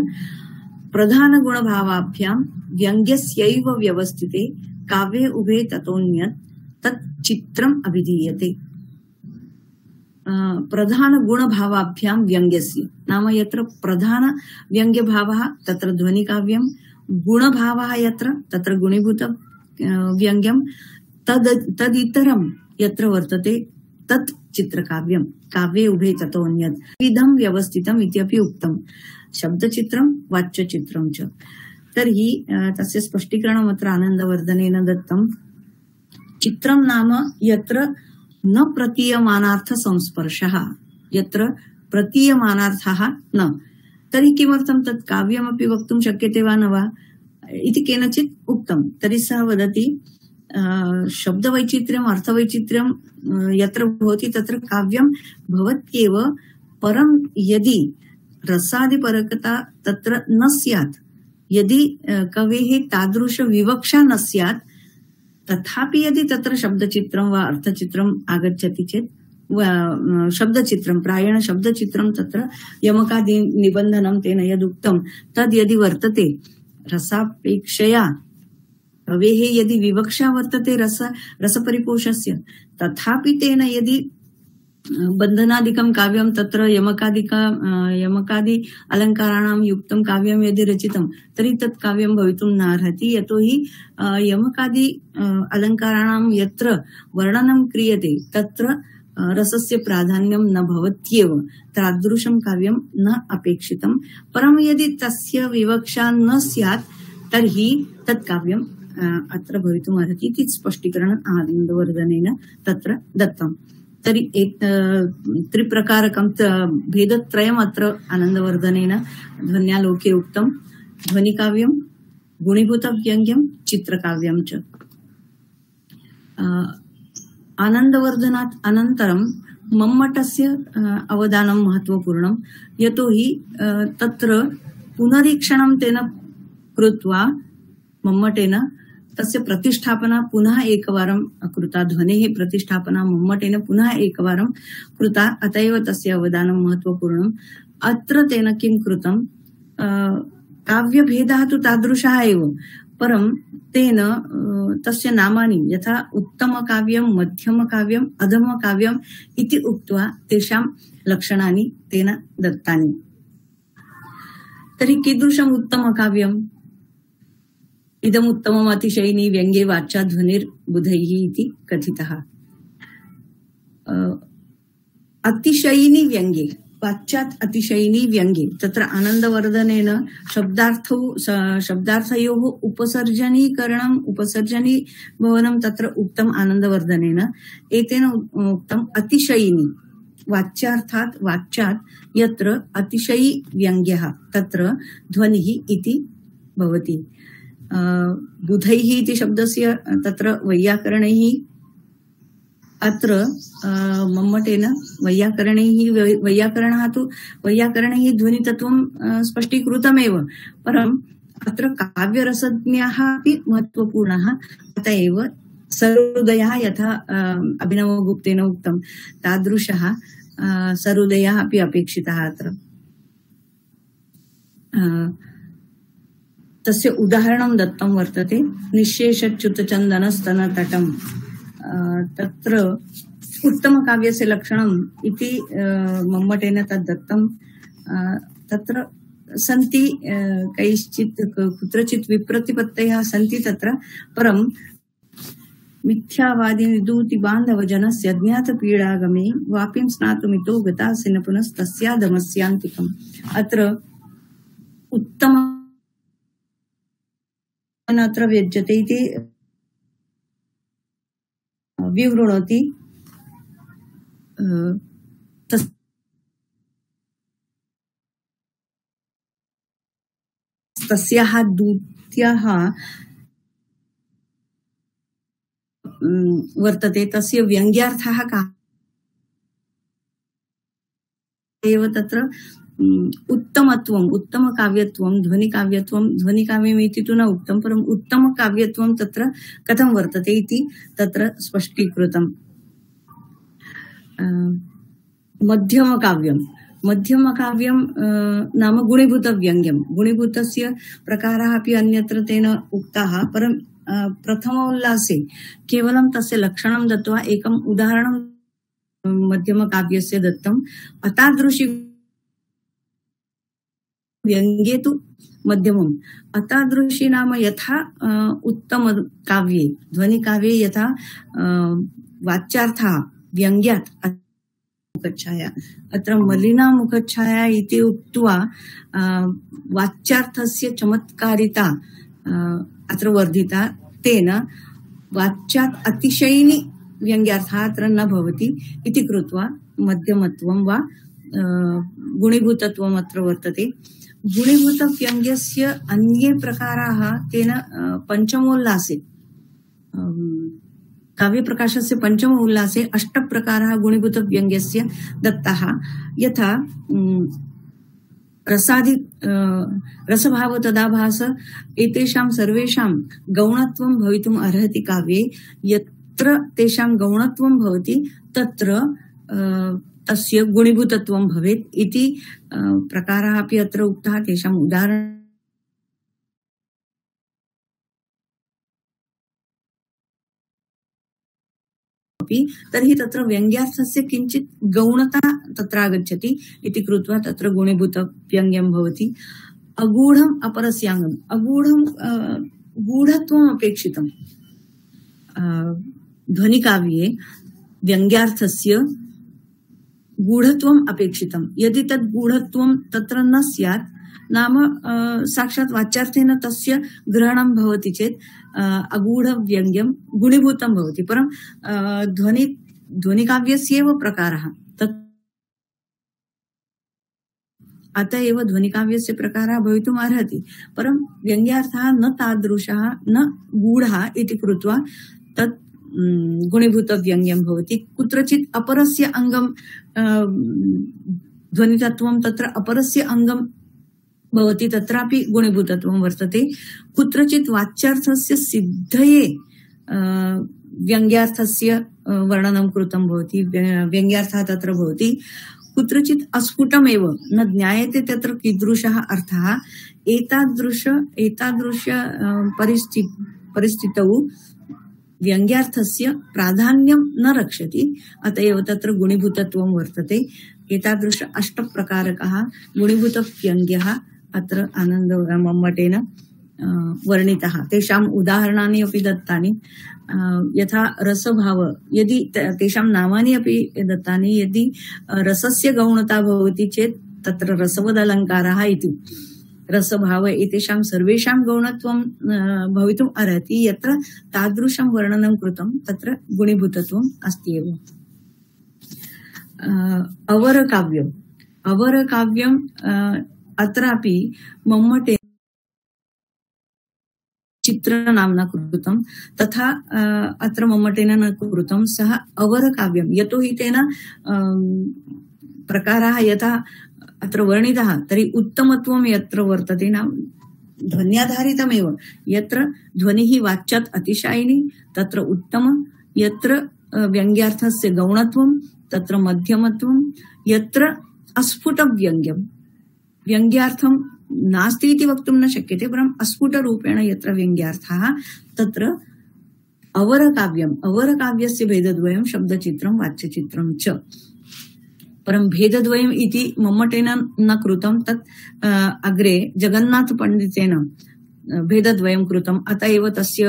प्रधानगुणभावाभ्यां व्यङ्ग्यस्यैव व्यवस्थिते काव्ये उभे ततोऽन्यत् तत् चित्रम् अभिधीयते। प्रधान गुणभावाभ्यां व्यङ्ग्यस्य नाम यत्र प्रधान व्यङ्ग्यभावः तत्र ध्वनिकाव्यं गुणभावः यत्र तत्र गुणीभूत व्यङ्ग्यं तद् तदितरं यत्र वर्तते तत् चित्रकाव्यं काव्ये उभे ततोऽन्यत् विधं व्यवस्थितम् इत्यपि उक्तम् शब्दचित्रं वाच्यचित्रं च। तर्हि तस्य स्पष्टीकरणम् अत्र आनन्दवर्धनेन दत्तं। चित्रं नाम यत्र न प्रतीयमानार्थ संस्पर्शः यत्र प्रतीयमानार्थः न तर्हि किमर्थं तत् काव्यमपि वक्तुं शक्यते वा न वा इति केनचित् उक्तं। तर्हि सः वदति शब्दवैचित्र्यम् अर्थवैचित्र्यं यत्र भवति तत्र काव्यं भवत्येव परं यदि रसादिपरकता तत्र न स्यात् यदि कवेः तादृश विवक्षा न स्यात् तथापि यदि तत्र शब्दचित्रं वा अर्थचित्रम् आगच्छति चेत् शब्दचित्रं प्रायेण शब्दचित्रं तत्र यमकादि निबन्धनं तेन यदुक्तं तद् यदि वर्तते रसापेक्षया कवेः यदि विवक्षा वर्तते रस रसपरिपोषस्य तथापि तेन यदि बन्धनादिकं काव्यं तत्र यमकादिक यमकादि अलङ्काराणां युक्तं काव्यं यदि रचितं तर्हि तत् काव्यं भवितुं नार्हति यतोहि यमकादि अलङ्काराणां यत्र वर्णनं क्रियते तत्र रसस्य प्राधान्यं न भवत्येव तादृशं काव्यं न अपेक्षितं। परं यदि तस्य विवक्षा न स्यात् तर्हि तत् काव्यं अत्र भवितुम् अर्हति इति स्पष्टीकरणम् आनन्दवर्धनेन तत्र दत्तम्। तर्हि एक त्रिप्रकारकं भेदत्रयम् अत्र आनन्दवर्धनेन ध्वन्यालोके उक्तं ध्वनिकाव्यं गुणीभूतव्यङ्ग्यं चित्रकाव्यं च। आनन्दवर्धनात् अनन्तरं मम्मटस्य अवदानं महत्वपूर्णं यतोहि तत्र पुनरीक्षणं तेन कृत्वा मम्मटेन तस्य प्रतिष्ठापना पुनः एकवारं कृता ध्वनेः प्रतिष्ठापना मम्मटेन पुनः एकवारं कृता अत एव तस्य अवदानं महत्वपूर्णम्। अत्र तेन किं कृतं काव्यभेदः तु तादृशः एव परं तेन तस्य नामानि यथा उत्तमकाव्यं मध्यमकाव्यम् अधमकाव्यम् इति उक्त्वा तेषां लक्षणानि तेन दत्तानि। तर्हि कीदृशम् उत्तमकाव्यम् इदमुत्तमम् अतिशयिनी व्यङ्ग्ये वाचा ध्वनिर्बुधैः इति कथितः। अतिशयिनी व्यङ्ग्ये वाच्यात् अतिशयिनी व्यङ्ग्ये तत्र आनन्दवर्धनेन शब्दार्थौ शब्दार्थयोः उपसर्जनीकरणम् उपसर्जनी भवनं तत्र उक्तम् आनन्दवर्धनेन एतेन उक्तम् अतिशयिनी वाच्यार्थात् वाच्यात् यत्र अतिशयी व्यङ्ग्यः तत्र ध्वनिः इति भवति। बुधैः इति शब्दस्य तत्र वैयाकरणैः अत्र मम्मटेन वैयाकरणैः वैयाकरणः तु वैयाकरणैः ध्वनितत्वं स्पष्टीकृतमेव परम् अत्र काव्यरसज्ञाः अपि महत्वपूर्णः अत एव सरोदयः यथा अभिनवगुप्तेन उक्तं तादृशः सरोदयः अपि अपेक्षितः अत्र। तस्य उदाहरणं दत्तं वर्तते निःशेषच्युतचन्दनस्तनतटं तत्र उत्तमकाव्यस्य लक्षणम् इति मम्मटेन तद् दत्तं। तत्र सन्ति कैश्चित् कुत्रचित् विप्रतिपत्तयः सन्ति तत्र परं मिथ्यावादी विदूति बान्धव जनस्य ज्ञातपीडागमे वापिं स्नातुमितो गतासिन पुनस्तस्याधमस्यान्तिकम्। अत्र उत्तम अत्र व्यज्यते इति विवृणोति तस्याः दूत्याः वर्तते तस्य व्यङ्ग्यार्थः कः एव तत्र उत्तमत्वम् उत्तमकाव्यत्वं ध्वनिकाव्यत्वं ध्वनिकाव्यमिति तु न उक्तं परम् उत्तमकाव्यत्वं तत्र कथं वर्तते इति तत्र स्पष्टीकृतम्। मध्यमकाव्यं मध्यमकाव्यं नाम गुणीभूतव्यङ्ग्यं गुणीभूतस्य प्रकाराः अपि अन्यत्र तेन उक्ताः परं प्रथमोल्लासे केवलं तस्य लक्षणं दत्त्वा एकम् उदाहरणं मध्यमकाव्यस्य दत्तम्। अतादृशी व्यङ्ग्ये तु मध्यमम् अतादृशी नाम यथा उत्तमकाव्ये ध्वनिकाव्ये यथा वाच्यार्थः व्यङ्ग्यात् मुखच्छाया अत्र मलिना मुखच्छाया इति उक्त्वा वाच्यार्थस्य चमत्कारिता अत्र वर्धिता तेन वाच्यात् अतिशयिनी व्यङ्ग्यार्थः अत्र न भवति इति कृत्वा मध्यमत्वं वा गुणीभूतत्वम् अत्र वर्तते। गुणीभूतव्यङ्ग्यस्य अन्ये प्रकाराः तेन पञ्चमोल्लासे काव्यप्रकाशस्य पञ्चम उल्लासे अष्टप्रकाराः गुणीभूतव्यङ्ग्यस्य दत्ताः। यथा रसादि रसभाव तदाभास एतेषां सर्वेषां गौणत्वं भवितुम् अर्हति काव्ये। यत्र तेषां गौणत्वं भवति तत्र तस्य गुणीभूतत्वं भवेत् इति प्रकाराः अपि अत्र उक्ताः। तेषाम् उदाहरणं तर्हि तत्र व्यङ्ग्यार्थस्य किञ्चित् गौणता तत्र आगच्छति इति कृत्वा तत्र गुणीभूतव्यङ्ग्यं भवति। अगूढम् अपरस्याङ्गम् अगूढं गूढत्वम् अपेक्षितम्। ध्वनिकाव्ये व्यङ्ग्यार्थस्य गूढत्वम् अपेक्षितम्। यदि तद् गूढत्वं तत्र न स्यात् नाम साक्षात् वाच्यार्थेन तस्य ग्रहणं भवति चेत् अगूढव्यङ्ग्यं गुणीभूतं भवति। परं ध्वनि ध्वनिकाव्यस्यैव प्रकारः तत् अत एव ध्वनिकाव्यस्य प्रकारः भवितुम् अर्हति परं व्यङ्ग्यार्थः न तादृशः न गूढः इति कृत्वा तत् गुणीभूतव्यङ्ग्यं भवति। कुत्रचित् अपरस्य अङ्गं ध्वनितत्वं तत्र अपरस्य अङ्गं भवति तत्रापि गुणीभूतत्वं वर्तते। कुत्रचित् वाच्यार्थस्य सिद्धये व्यङ्ग्यार्थस्य वर्णनं कृतं भवति व्यङ्ग्यार्थः तत्र भवति। कुत्रचित् अस्फुटमेव न ज्ञायते तत्र कीदृशः अर्थः। एतादृश एतादृश परिस्थिति परिस्थितौ व्यङ्ग्यार्थस्य प्राधान्यं न रक्षति अत एव तत्र गुणीभूतत्वं वर्तते। एतादृश अष्टप्रकारकः गुणीभूतव्यङ्ग्यः अत्र आनन्दमम्मटेन वर्णितः। तेषाम् उदाहरणानि अपि दत्तानि। यथा रसभाव यदि तेषां नामानि अपि दत्तानि। यदि रसस्य गौणता भवति चेत् तत्र रसवदलङ्कारः इति रसभाव एतेषां सर्वेषां गौणत्वं भवितुम् अर्हति। यत्र तादृशं वर्णनं कृतं तत्र गुणीभूतत्वम् अस्ति एव। अवरकाव्यम् अवरकाव्यम् अत्रापि मम्मटे चित्रनाम्ना कृतं तथा अत्र मम्मटेन न कृतं। सः अवरकाव्यं यतोहि तेन प्रकाराः यथा अत्र वर्णितः तर्हि उत्तमत्वं यत्र वर्तते नाम ध्वन्याधारितमेव। यत्र ध्वनिः वाच्यात् अतिशायिनी तत्र उत्तम। यत्र व्यङ्ग्यार्थस्य गौणत्वं तत्र मध्यमत्वं। यत्र अस्फुटव्यङ्ग्यं व्यङ्ग्यार्थं नास्ति इति वक्तुं न शक्यते परम् अस्फुटरूपेण यत्र व्यङ्ग्यार्थः तत्र अवरकाव्यम्। अवरकाव्यस्य भेदद्वयं शब्दचित्रं वाच्यचित्रं च। परं भेदद्वयम् इति मम्मटेन न कृतं तत् अग्रे जगन्नाथपण्डितेन भेदद्वयं कृतम्। अत एव तस्य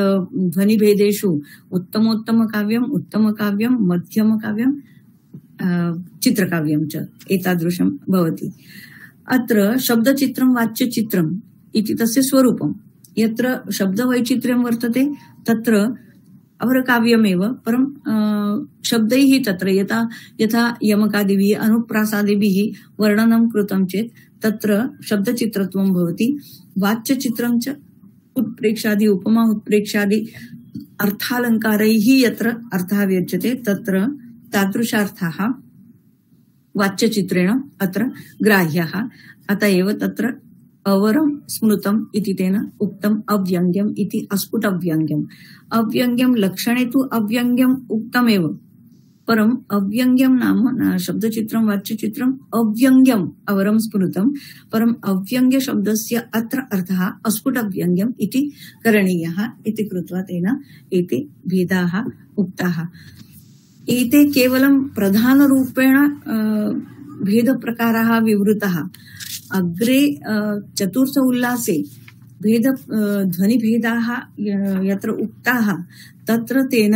ध्वनिभेदेषु उत्तमोत्तमकाव्यम् उत्तमकाव्यं मध्यमकाव्यं चित्रकाव्यं च एतादृशं भवति। अत्र शब्दचित्रं वाच्यचित्रम् इति तस्य स्वरूपं। यत्र शब्दवैचित्र्यं वर्तते तत्र अवरकाव्यमेव परं शब्दैः तत्र यथा यथा यमकादिभिः अनुप्रासादिभिः वर्णनं कृतं चेत् तत्र शब्दचित्रत्वं भवति। वाच्यचित्रं च उत्प्रेक्षादि उपमा उत्प्रेक्षादि अर्थालङ्कारैः यत्र अर्थः व्यज्यते तत्र तादृशार्थाः वाच्यचित्रेण अत्र ग्राह्यः। अत एव तत्र अवरं स्मृतम् इति तेन उक्तम् अव्यङ्ग्यम् इति अस्फुटव्यङ्ग्यम्। अव्यङ्ग्यं लक्षणे तु अव्यङ्ग्यम् उक्तमेव, परम् अव्यङ्ग्यं नाम शब्दचित्रं वाच्यचित्रम् अव्यङ्ग्यम् अवरं स्मृतम्, परम् अव्यङ्ग्य शब्दस्य अत्र अर्थः अस्फुटव्यङ्ग्यम् इति करणीयः इति कृत्वा तेन एते भेदाः उक्ताः। एते केवलं प्रधानरूपेण भेदप्रकाराः विवृताः। अग्रे चतुर्थ उल्लासे भेद ध्वनिभेदाः यत्र उक्ताः तत्र तेन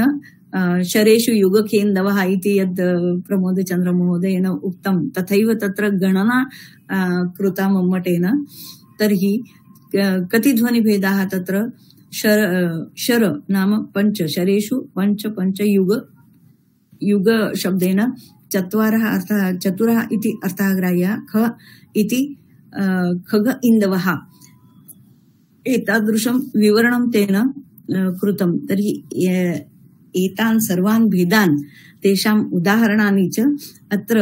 शरेषु युगकेन्दवः इति यद् प्रमोदचन्द्र महोदयेन उक्तं तथैव तत्र गणना कृता मम्मटेन। तर्हि कति ध्वनिभेदाः तत्र शर शर नाम पञ्च, शरेषु पञ्च पञ्च युग युग शब्देन चत्वारः अर्थः चतुरः इति अर्थः ग्राह्यः। ख इति खग इन्दवः एतादृशं विवरणं तेन कृतं। तर्हि एतान् सर्वान् भेदान् तेषाम् उदाहरणानि च अत्र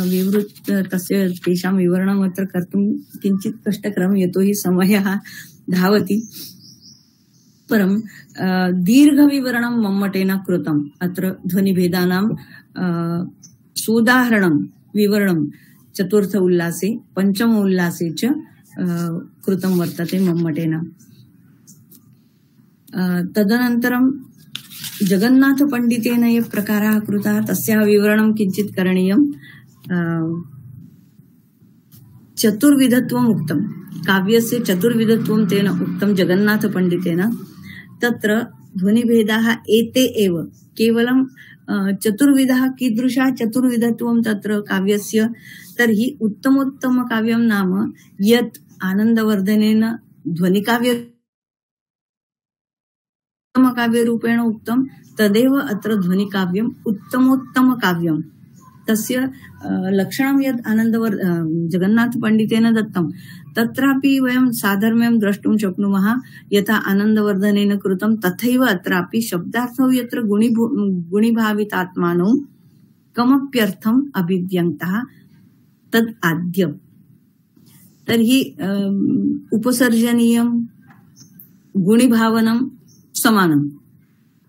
विवृत तस्य तेषां विवरणम् अत्र कर्तुं किञ्चित् कष्टकरं, यतोहि समयः धावति। परं दीर्घविवरणं मम्मटेन कृतम्। अत्र ध्वनिभेदानां सोदाहरणं विवरणं चतुर्थ उल्लासे पञ्चम उल्लासे च कृतं वर्तते मम्मटेन। तदनन्तरं जगन्नाथपण्डितेन ये प्रकाराः कृताः तस्याः विवरणं किञ्चित् करणीयम्। चतुर्विधत्वम् उक्तं, काव्यस्य चतुर्विधत्वं तेन उक्तं जगन्नाथपण्डितेन। तत्र ध्वनिभेदाः एते एव, केवलं चतुर्विधः कीदृशः चतुर्विधत्वं तत्र काव्यस्य। तर्हि उत्तमोत्तम काव्यं नाम यत् आनन्दवर्धनेन ध्वनिकाव्य काव्यरूपेण उक्तं तदेव अत्र ध्वनिकाव्यम् उत्तमोत्तम काव्यम्। तस्य लक्षणं यद् आनन्दवर् जगन्नाथपण्डितेन दत्तं तत्रापि वयं साधर्म्यं द्रष्टुं शक्नुमः। यथा आनन्दवर्धनेन कृतं तथैव अत्रापि शब्दार्थौ यत्र गुणिभू गुणिभावितात्मानौ कमप्यर्थम् अभिव्यङ्क्तः तद् आद्य। तर्हि उपसर्जनीयं गुणिभावनं समानं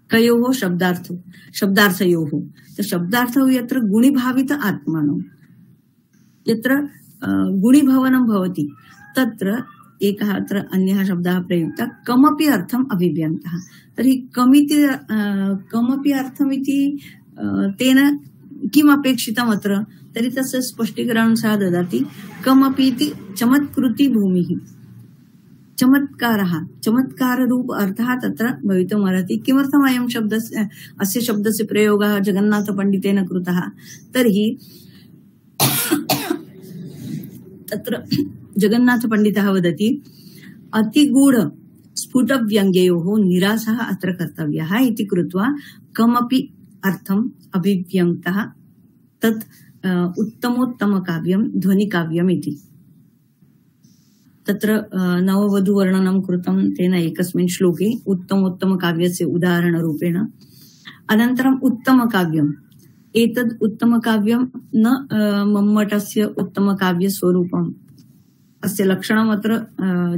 कयोः शब्दार्थौ शब्दार्थयोः। तो शब्दार्थौ यत्र गुणिभावित आत्मानौ यत्र गुणिभवनं भवति तत्र एकः अत्र अन्यः शब्दः प्रयुक्तः कमपि अर्थम् अभिव्यङ्क्तः। तर्हि कमिति कमपि अर्थमिति तेन किम् अपेक्षितम् अत्र? तर्हि तस्य स्पष्टीकरणं सः ददाति। कमपि इति चमत्कृति भूमिः, चमत्कारः, चमत्काररूप अर्थः तत्र भवितुमर्हति। किमर्थम् अयं शब्दस्य अस्य शब्दस्य प्रयोगः जगन्नाथपण्डितेन कृतः? तर्हि तत्र जगन्नाथपण्डितः वदति अतिगूढ स्फुटव्यङ्ग्ययोः निरासः अत्र कर्तव्यः इति कृत्वा कमपि अर्थम् अभिव्यङ्क्तः तत् उत्तमोत्तमकाव्यं ध्वनिकाव्यम् इति। तत्र नववधूवर्णनं कृतं तेन एकस्मिन् श्लोके उत्तमोत्तमकाव्यस्य उदाहरणरूपेण। अनन्तरम् उत्तमकाव्यम्, एतद् उत्तमकाव्यं न मम्मटस्य उत्तमकाव्यस्वरूपम्। अस्य लक्षणम् अत्र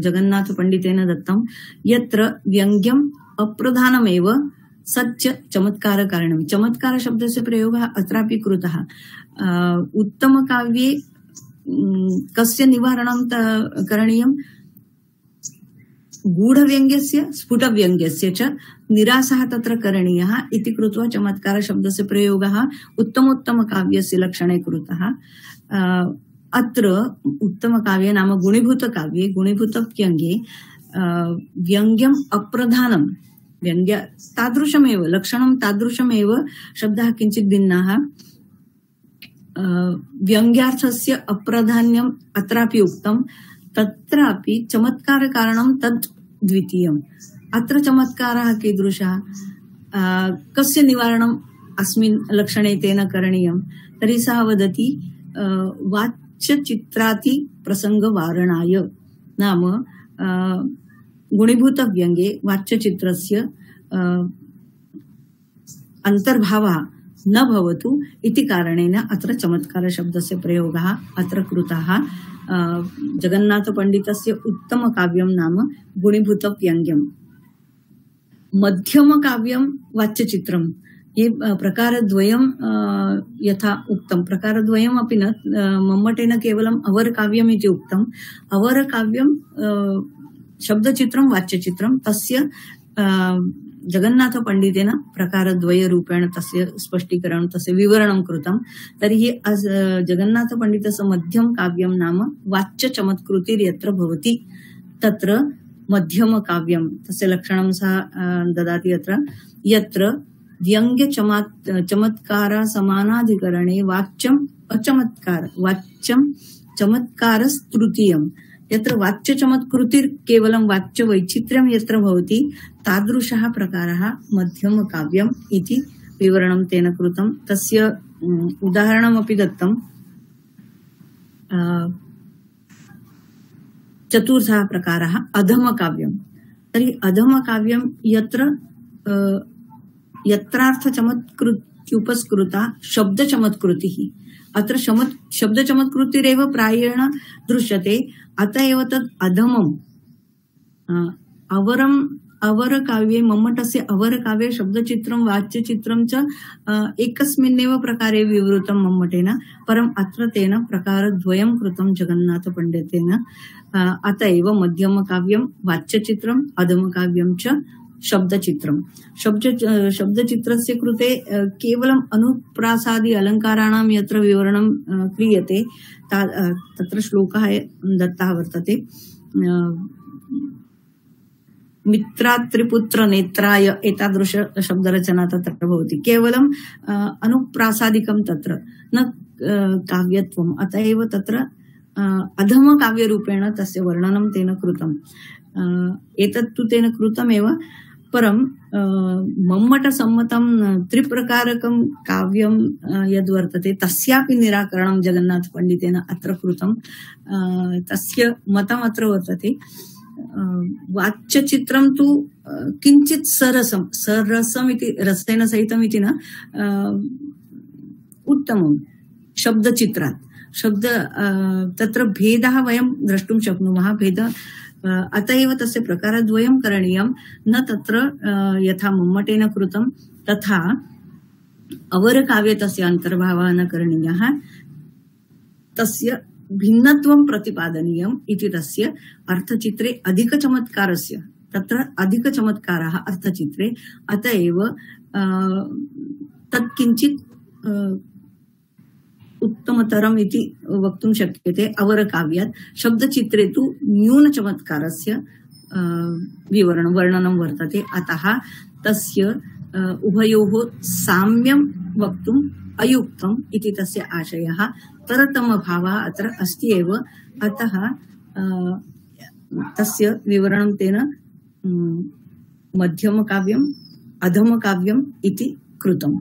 जगन्नाथपण्डितेन दत्तं। यत्र व्यङ्ग्यम् अप्रधानमेव सच्च चमत्कारकारणं। चमत्कारशब्दस्य प्रयोगः अत्रापि कृतः। उत्तमकाव्ये कस्य निवारणं करणीयं? गूढव्यङ्ग्यस्य स्फुटव्यङ्ग्यस्य च निरासः तत्र करणीयः इति कृत्वा चमत्कारशब्दस्य प्रयोगः उत्तमोत्तमकाव्यस्य लक्षणे कृतः। अत्र उत्तमकाव्ये नाम गुणीभूतकाव्ये गुणीभूतव्यङ्ग्ये व्यङ्ग्यम् अप्रधानं, व्यङ्ग्य तादृशमेव लक्षणं तादृशमेव, शब्दः किञ्चित् भिन्नाः। व्यङ्ग्यार्थस्य अप्राधान्यम् अत्रापि उक्तं, तत्रापि चमत्कारकारणं तद् द्वितीयम्। अत्र चमत्कारः कीदृशः? कस्य निवारणम् अस्मिन् लक्षणे तेन करणीयं? तर्हि सः वदति वाच्यचित्राति प्रसङ्गवारणाय, नाम गुणीभूतव्यङ्गे वाच्यचित्रस्य अन्तर्भावः न भवतु इति कारणेन अत्र चमत्कारशब्दस्य प्रयोगः अत्र कृतः। जगन्नाथपण्डितस्य उत्तमकाव्यं नाम गुणीभूतव्यङ्ग्यम्। मध्यमकाव्यं वाच्यचित्रं, ये प्रकारद्वयं यथा उक्तं, प्रकारद्वयम् अपि न, मम्मटेन केवलम् अवरकाव्यम् इति उक्तम्। अवरकाव्यं शब्दचित्रं वाच्यचित्रं, तस्य जगन्नाथपण्डितेन प्रकारद्वयरूपेण तस्य स्पष्टीकरणं, तस्य विवरणं कृतं। तर्हि जगन्नाथपण्डितस्य मध्यम काव्यं नाम वाच्यचमत्कृतिर्यत्र भवति तत्र मध्यमकाव्यं, तस्य लक्षणं सः ददाति अत्र। यत्र व्यङ्ग्य चमत्कार समानाधिकरणे वाच्यम् अचमत्कार वाच्यं चमत्कारस्तृतीयम्, यत्र वाच्यचमत्कृतिर् केवलं वाच्यवैचित्र्यं यत्र भवति तादृशः प्रकारः मध्यमकाव्यम् इति विवरणं तेन कृतं। तस्य उदाहरणमपि दत्तम्। चतुर्थः प्रकारः अधमकाव्यं। तर्हि अधमकाव्यं यत्र यत्रार्थचमत्कृत्युपस्कृता शब्दचमत्कृतिः, अत्र शब्दचमत्कृतिरेव प्रायेण दृश्यते, अत एव तद् अधमम्। अवरम् अवरकाव्ये, मम्मटस्य अवरकाव्ये शब्दचित्रं वाच्यचित्रं च एकस्मिन्नेव प्रकारे विवृतं मम्मटेन, परम् अत्र तेन प्रकारद्वयं कृतं जगन्नाथपण्डितेन। अत एव मध्यमकाव्यं वाच्यचित्रम्, अधमकाव्यं च शब्दचित्रं। शब्द शब्दचित्रस्य कृते केवलम् अनुप्रासादि अलङ्काराणां यत्र विवरणं क्रियते तत्र श्लोकः दत्तः वर्तते। मित्रात्रिपुत्र नेत्राय एतादृश शब्दरचना तत्र भवति। केवलम् अनुप्रासादिकं तत्र न काव्यत्वम्, अत एव तत्र अधमकाव्यरूपेण तस्य वर्णनं तेन कृतम्। एतत्तु तेन कृतमेव, परं मम्मटसम्मतं त्रिप्रकारकं काव्यं यद्वर्तते तस्यापि निराकरणं जगन्नाथपण्डितेन अत्र कृतं। तस्य मतम् अत्र वर्तते, वाच्यचित्रं तु किञ्चित् सरसं सरसम् इति रसेन सहितम् इति न, उत्तमं शब्दचित्रात्। शब्द तत्र भेदः वयं द्रष्टुं शक्नुमः। भेद अत एव तस्य प्रकारद्वयं करणीयं, न तत्र यथा मम्मटेन कृतं तथा अवरकाव्ये तस्य अन्तर्भावः न करणीयः, तस्य भिन्नत्वं प्रतिपादनीयम् इति तस्य अर्थचित्रे अधिकचमत्कारस्य, तत्र अधिकचमत्कारः अर्थचित्रे, अत एव तत् किञ्चित् उत्तमतरम् इति वक्तुं शक्यते अवरकाव्यात्। शब्दचित्रे तु न्यूनचमत्कारस्य विवरणं वर्णनं वर्तते, अतः तस्य उभयोः साम्यं वक्तुम् अयुक्तम् इति तस्य आशयः। तरतमभावः अत्र अस्ति एव, अतः तस्य विवरणं तेन मध्यमकाव्यम् अधमकाव्यम् इति कृतम्।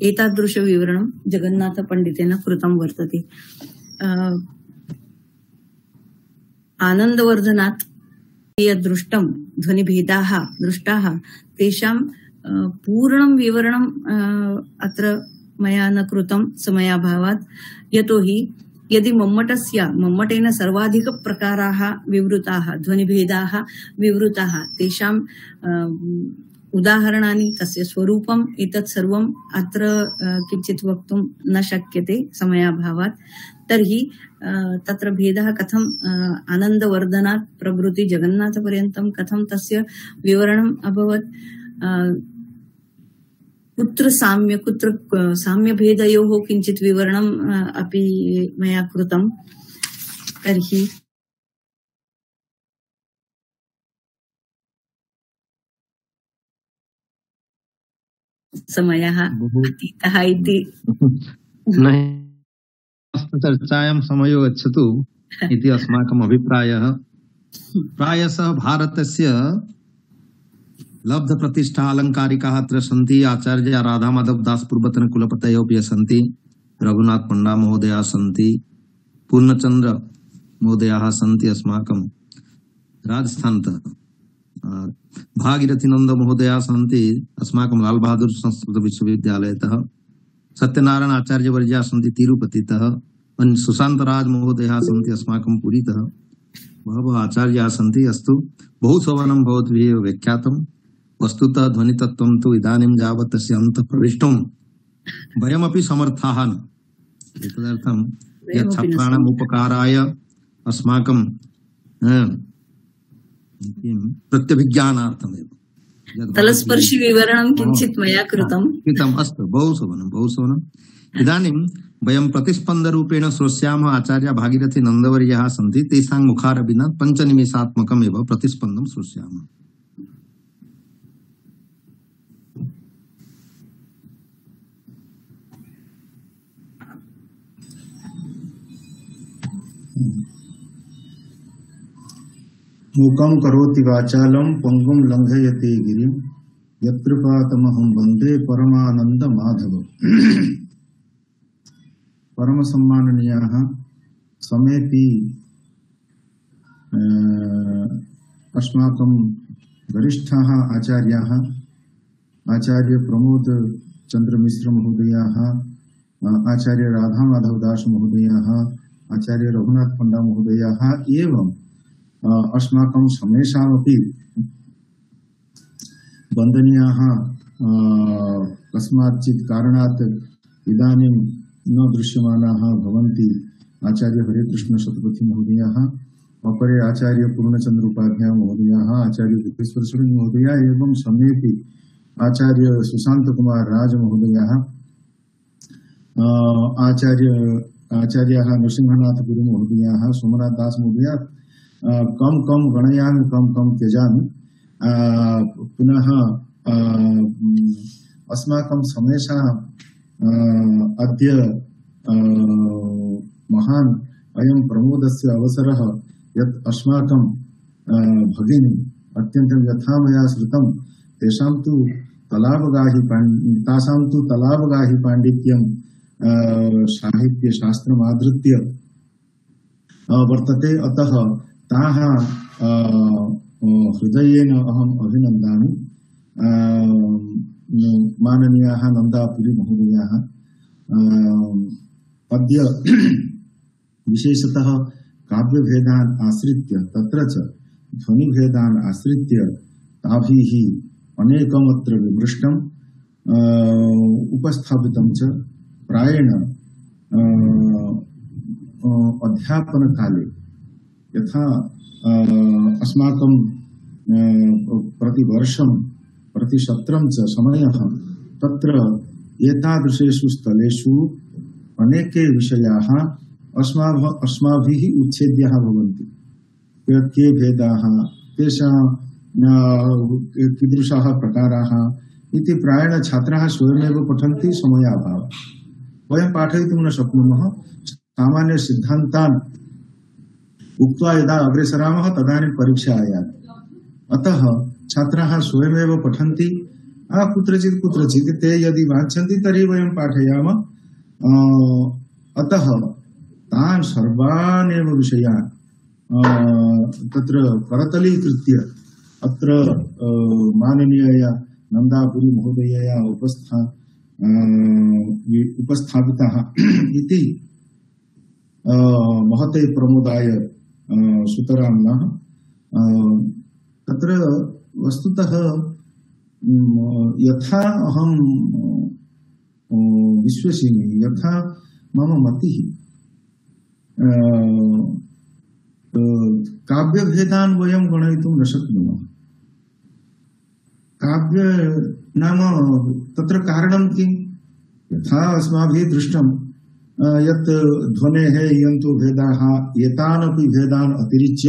एतादृश विवरणं जगन्नाथपण्डितेन कृतं वर्तते। आनन्दवर्धनात् यद् दृष्टं ध्वनिभेदाः दृष्टाः तेषां पूर्णं विवरणं अत्र मया न कृतं समयाभावात्, यतोहि यदि मम्मटस्य मम्मटेन सर्वाधिकप्रकाराः विवृताः, ध्वनिभेदाः विवृताः, तेषां उदाहरणानि, तस्य स्वरूपम्, एतत् सर्वम् अत्र किञ्चित् वक्तुं न शक्यते समयाभावात्। तर्हि तत्र भेदः कथम् आनन्दवर्धनात् प्रभृति जगन्नाथपर्यन्तं कथं तस्य विवरणम् अभवत्, कुत्र साम्य कुत्र साम्यभेदयोः किञ्चित् विवरणम् अपि मया कृतं। तर्हि समयः अतीतः इति चर्चायां समयो गच्छतु इति अस्माकम् अभिप्रायः। प्रायशः भारतस्य लब्ध प्रतिष्ठा अलङ्कारिकाः अत्र सन्ति। आचार्य राधा माधव दास पूर्वतन कुलपतयो अपि सन्ति, रघुनाथ पंडा महोदयाः सन्ति, पूर्णचन्द्र महोदयाः सन्ति अस्माकं राजस्थानतः, भागीरथी नंद महोदयाः सन्ति अस्माकं लाल बहादुर संस्कृत विश्वविद्यालयतः, सत्यनारायण आचार्य वर्या सन्ति तिरुपतितः, अन्य सुशान्तराज महोदयाः सन्ति अस्माकं पुरीतः, बहवः आचार्याः सन्ति। अस्तु, बहु शोभनं भवद्भिः व्याख्यातं। वस्तुतः ध्वनितत्त्वं तु इदानीं यावत् तस्य अन्तः प्रविष्टुं वयमपि समर्थाः न। एतदर्थं यत् छात्राणाम् उपकाराय अस्माकं प्रत्यभिज्ञानार्थमेव तलस्पर्शि विवरणं किञ्चित् मया कृतं। कृतम्। अस्तु, बहु शोभनं, बहु शोभनम्। इदानीं वयं प्रतिस्पन्दरूपेण श्रोष्यामः। आचार्य भागीरथी नन्दवर्याः सन्ति, तेषां मुखारविना पञ्चनिमेषात्मकम् एव प्रतिस्पन्दं श्रोष्यामः। मूकं करोति वाचालं पंगुं लंघयते गिरिं यत्कृपातमहं वन्दे परमानंद माधव। परम सम्माननीयाः समेपि अस्माकं वरिष्ठाः आचार्याः, आचार्य प्रमोद चंद्र मिश्र महोदयाः, आचार्य राधा माधव दास महोदयाः, आचार्य रघुनाथ पंडा महोदयाः एवं अस्माकं समेषामपि वन्दनीयाः कस्माच्चित् कारणात् इदानीं न दृश्यमानाः भवन्ति आचार्य हरेकृष्ण शतपथी महोदयाः, अपरे आचार्य पूर्णचंद्र उपाध्याय महोदयाः, आचार्य गुप्तेश्वर शरण महोदया एवं समेपि आचार्य सुशांत कुमार राज महोदयाः, आचार्य आचार्याः नरसिंहनाथ गुरु महोदयाः, सोमनाथ दास महोदया, कम कम गणयामि कम कम त्यजामि। पुनः अस्माकं समेषा अद्य महान अयं प्रमोदस्य अवसरः यत् अस्माकं भगिनी अत्यन्तं यथा मया श्रुतं तेषां तु तलावगाहि तासां तु तलावगाहि पाण्डित्यं साहित्य शास्त्रमाधृत्य वर्तते। अतः ताः हृदयेन अहम् अभिनन्दामि। माननीयाः नन्दापुरी महोदयाः अद्य विशेषतः काव्यभेदान् आश्रित्य तत्र च ध्वनिभेदान् आश्रित्य ताभिः अनेकमत्र विमृष्टम् उपस्थापितं च। प्रायेण अध्यापनकाले यथा अस्माकं प्रतिवर्षं प्रतिशत्रं च समयः तत्र एतादृशेषु स्थलेषु अनेके विषयाः अस्माभिः अस्माभिः उच्छेद्याः भवन्ति। के भेदाः, तेषां कीदृशाः प्रकाराः इति प्रायेण छात्राः स्वयमेव पठन्ति समयाभावः। वयं पाठयितुं न शक्नुमः। सामान्य सिद्धान्तान् उक्त्वा यदा अग्रेसरामः तदानीं परीक्षा आयाति। अतः छात्राः स्वयमेव पठन्ति। कुत्रचित् कुत्रचित् ते यदि वाञ्छन्ति तर्हि वयं पाठयामः। अतः तान् सर्वान् एव विषयान् तत्र करतलीकृत्य अत्र माननीयया नन्दापुरी महोदयया उपस्था उपस्थापिताः इति महते प्रमोदाय सुतरां नः। तत्र वस्तुतः यथा अहं विश्वसिमि, यथा मम मतिः, काव्यभेदान् वयं गणयितुं न शक्नुमः। काव्य नाम तत्र कारणं किं? यथा अस्माभिः दृष्टं यत् ध्वनेः इयन्तो भेदाः, एतानपि भेदान् अतिरिच्य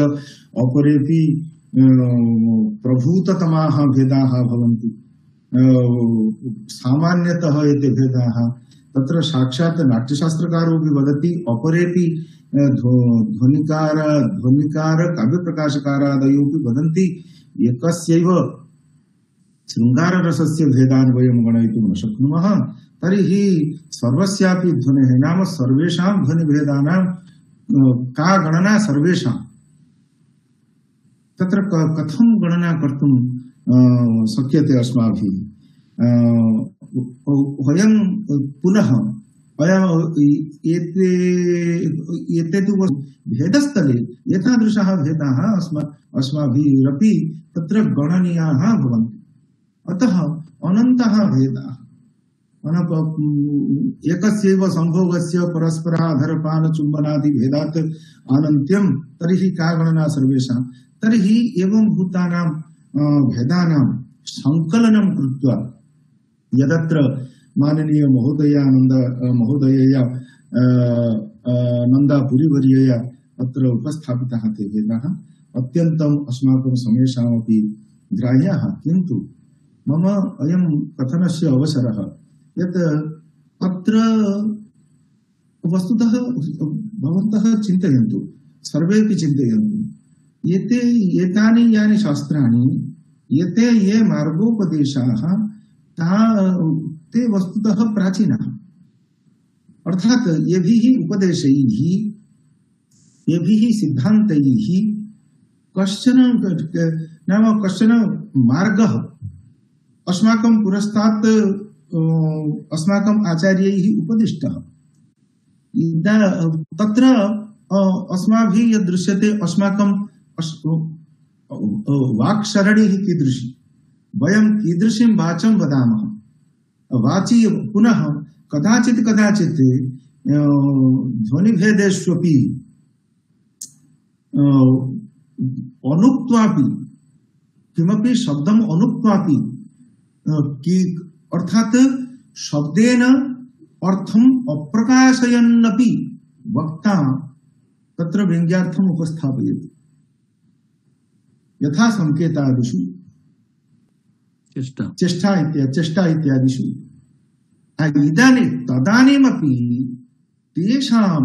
अपरेपि प्रभूततमाः भेदाः भवन्ति। सामान्यतः एते भेदाः तत्र साक्षात् नाट्यशास्त्रकारोऽपि वदति, अपरेपि ध्वनिकार ध्वनिकार काव्यप्रकाशकारादयोऽपि वदन्ति। एकस्यैव शृङ्गाररसस्य भेदान् वयं गणयितुं न शक्नुमः। तर्हि सर्वस्यापि ध्वनेः नाम सर्वेषां ध्वनिभेदानां का गणना सर्वेषां? तत्र कथं गणना कर्तुं शक्यते अस्माभिः? वयं पुनः एते एते तु भेदस्थले एतादृशाः भेदाः अस्मा अस्माभिरपि तत्र गणनीयाः भवन्ति। अतः अनन्तः भेदाः एकस्यैव संभोगस्य परस्पराधरपानचुम्बनादि भेदात् अनन्त्यं तर्हि का गणना सर्वेषां। तर्हि एवं भूतानां भेदानां संकलनं कृत्वा यदत्र माननीय महोदयानन्द महोदयया नन्दापुरीवर्यया अत्र उपस्थापिताः ते भेदाः अत्यन्तम् अस्माकं समेषामपि ग्राह्याः। किन्तु मम अयं कथनस्य अवसरः यत् अत्र वस्तुतः भवन्तः चिन्तयन्तु, सर्वेपि चिन्तयन्तु, एते एतानि यानि शास्त्राणि एते ये मार्गोपदेशाः ते वस्तुतः प्राचीनाः। अर्थात येभिः उपदेशैः येभिः सिद्धान्तैः कश्चन नाम कश्चन मार्गः अस्माकं पुरस्तात् अस्माकम् आचार्यैः उपदिष्टः। तत्र अस्माभिः यद् दृश्यते अस्माकं वाक्शरणिः कीदृशी, वयं कीदृशीं वाचं वदामः, वाची पुनः कदाचित् कदाचित् ध्वनिभेदेष्वपि अनुक्त्वापि किमपि शब्दम् अनुक्त्वापि अर्थात शब्देन अर्थम् अप्रकाशयन्नपि वक्ता तत्र व्यङ्ग्यार्थम् उपस्थापयति यथा संकेतादिषु चेष्टा चेष्टा इत्यादि चेष्टा इत्यादिषु। इदानीं तदानीमपि तेषां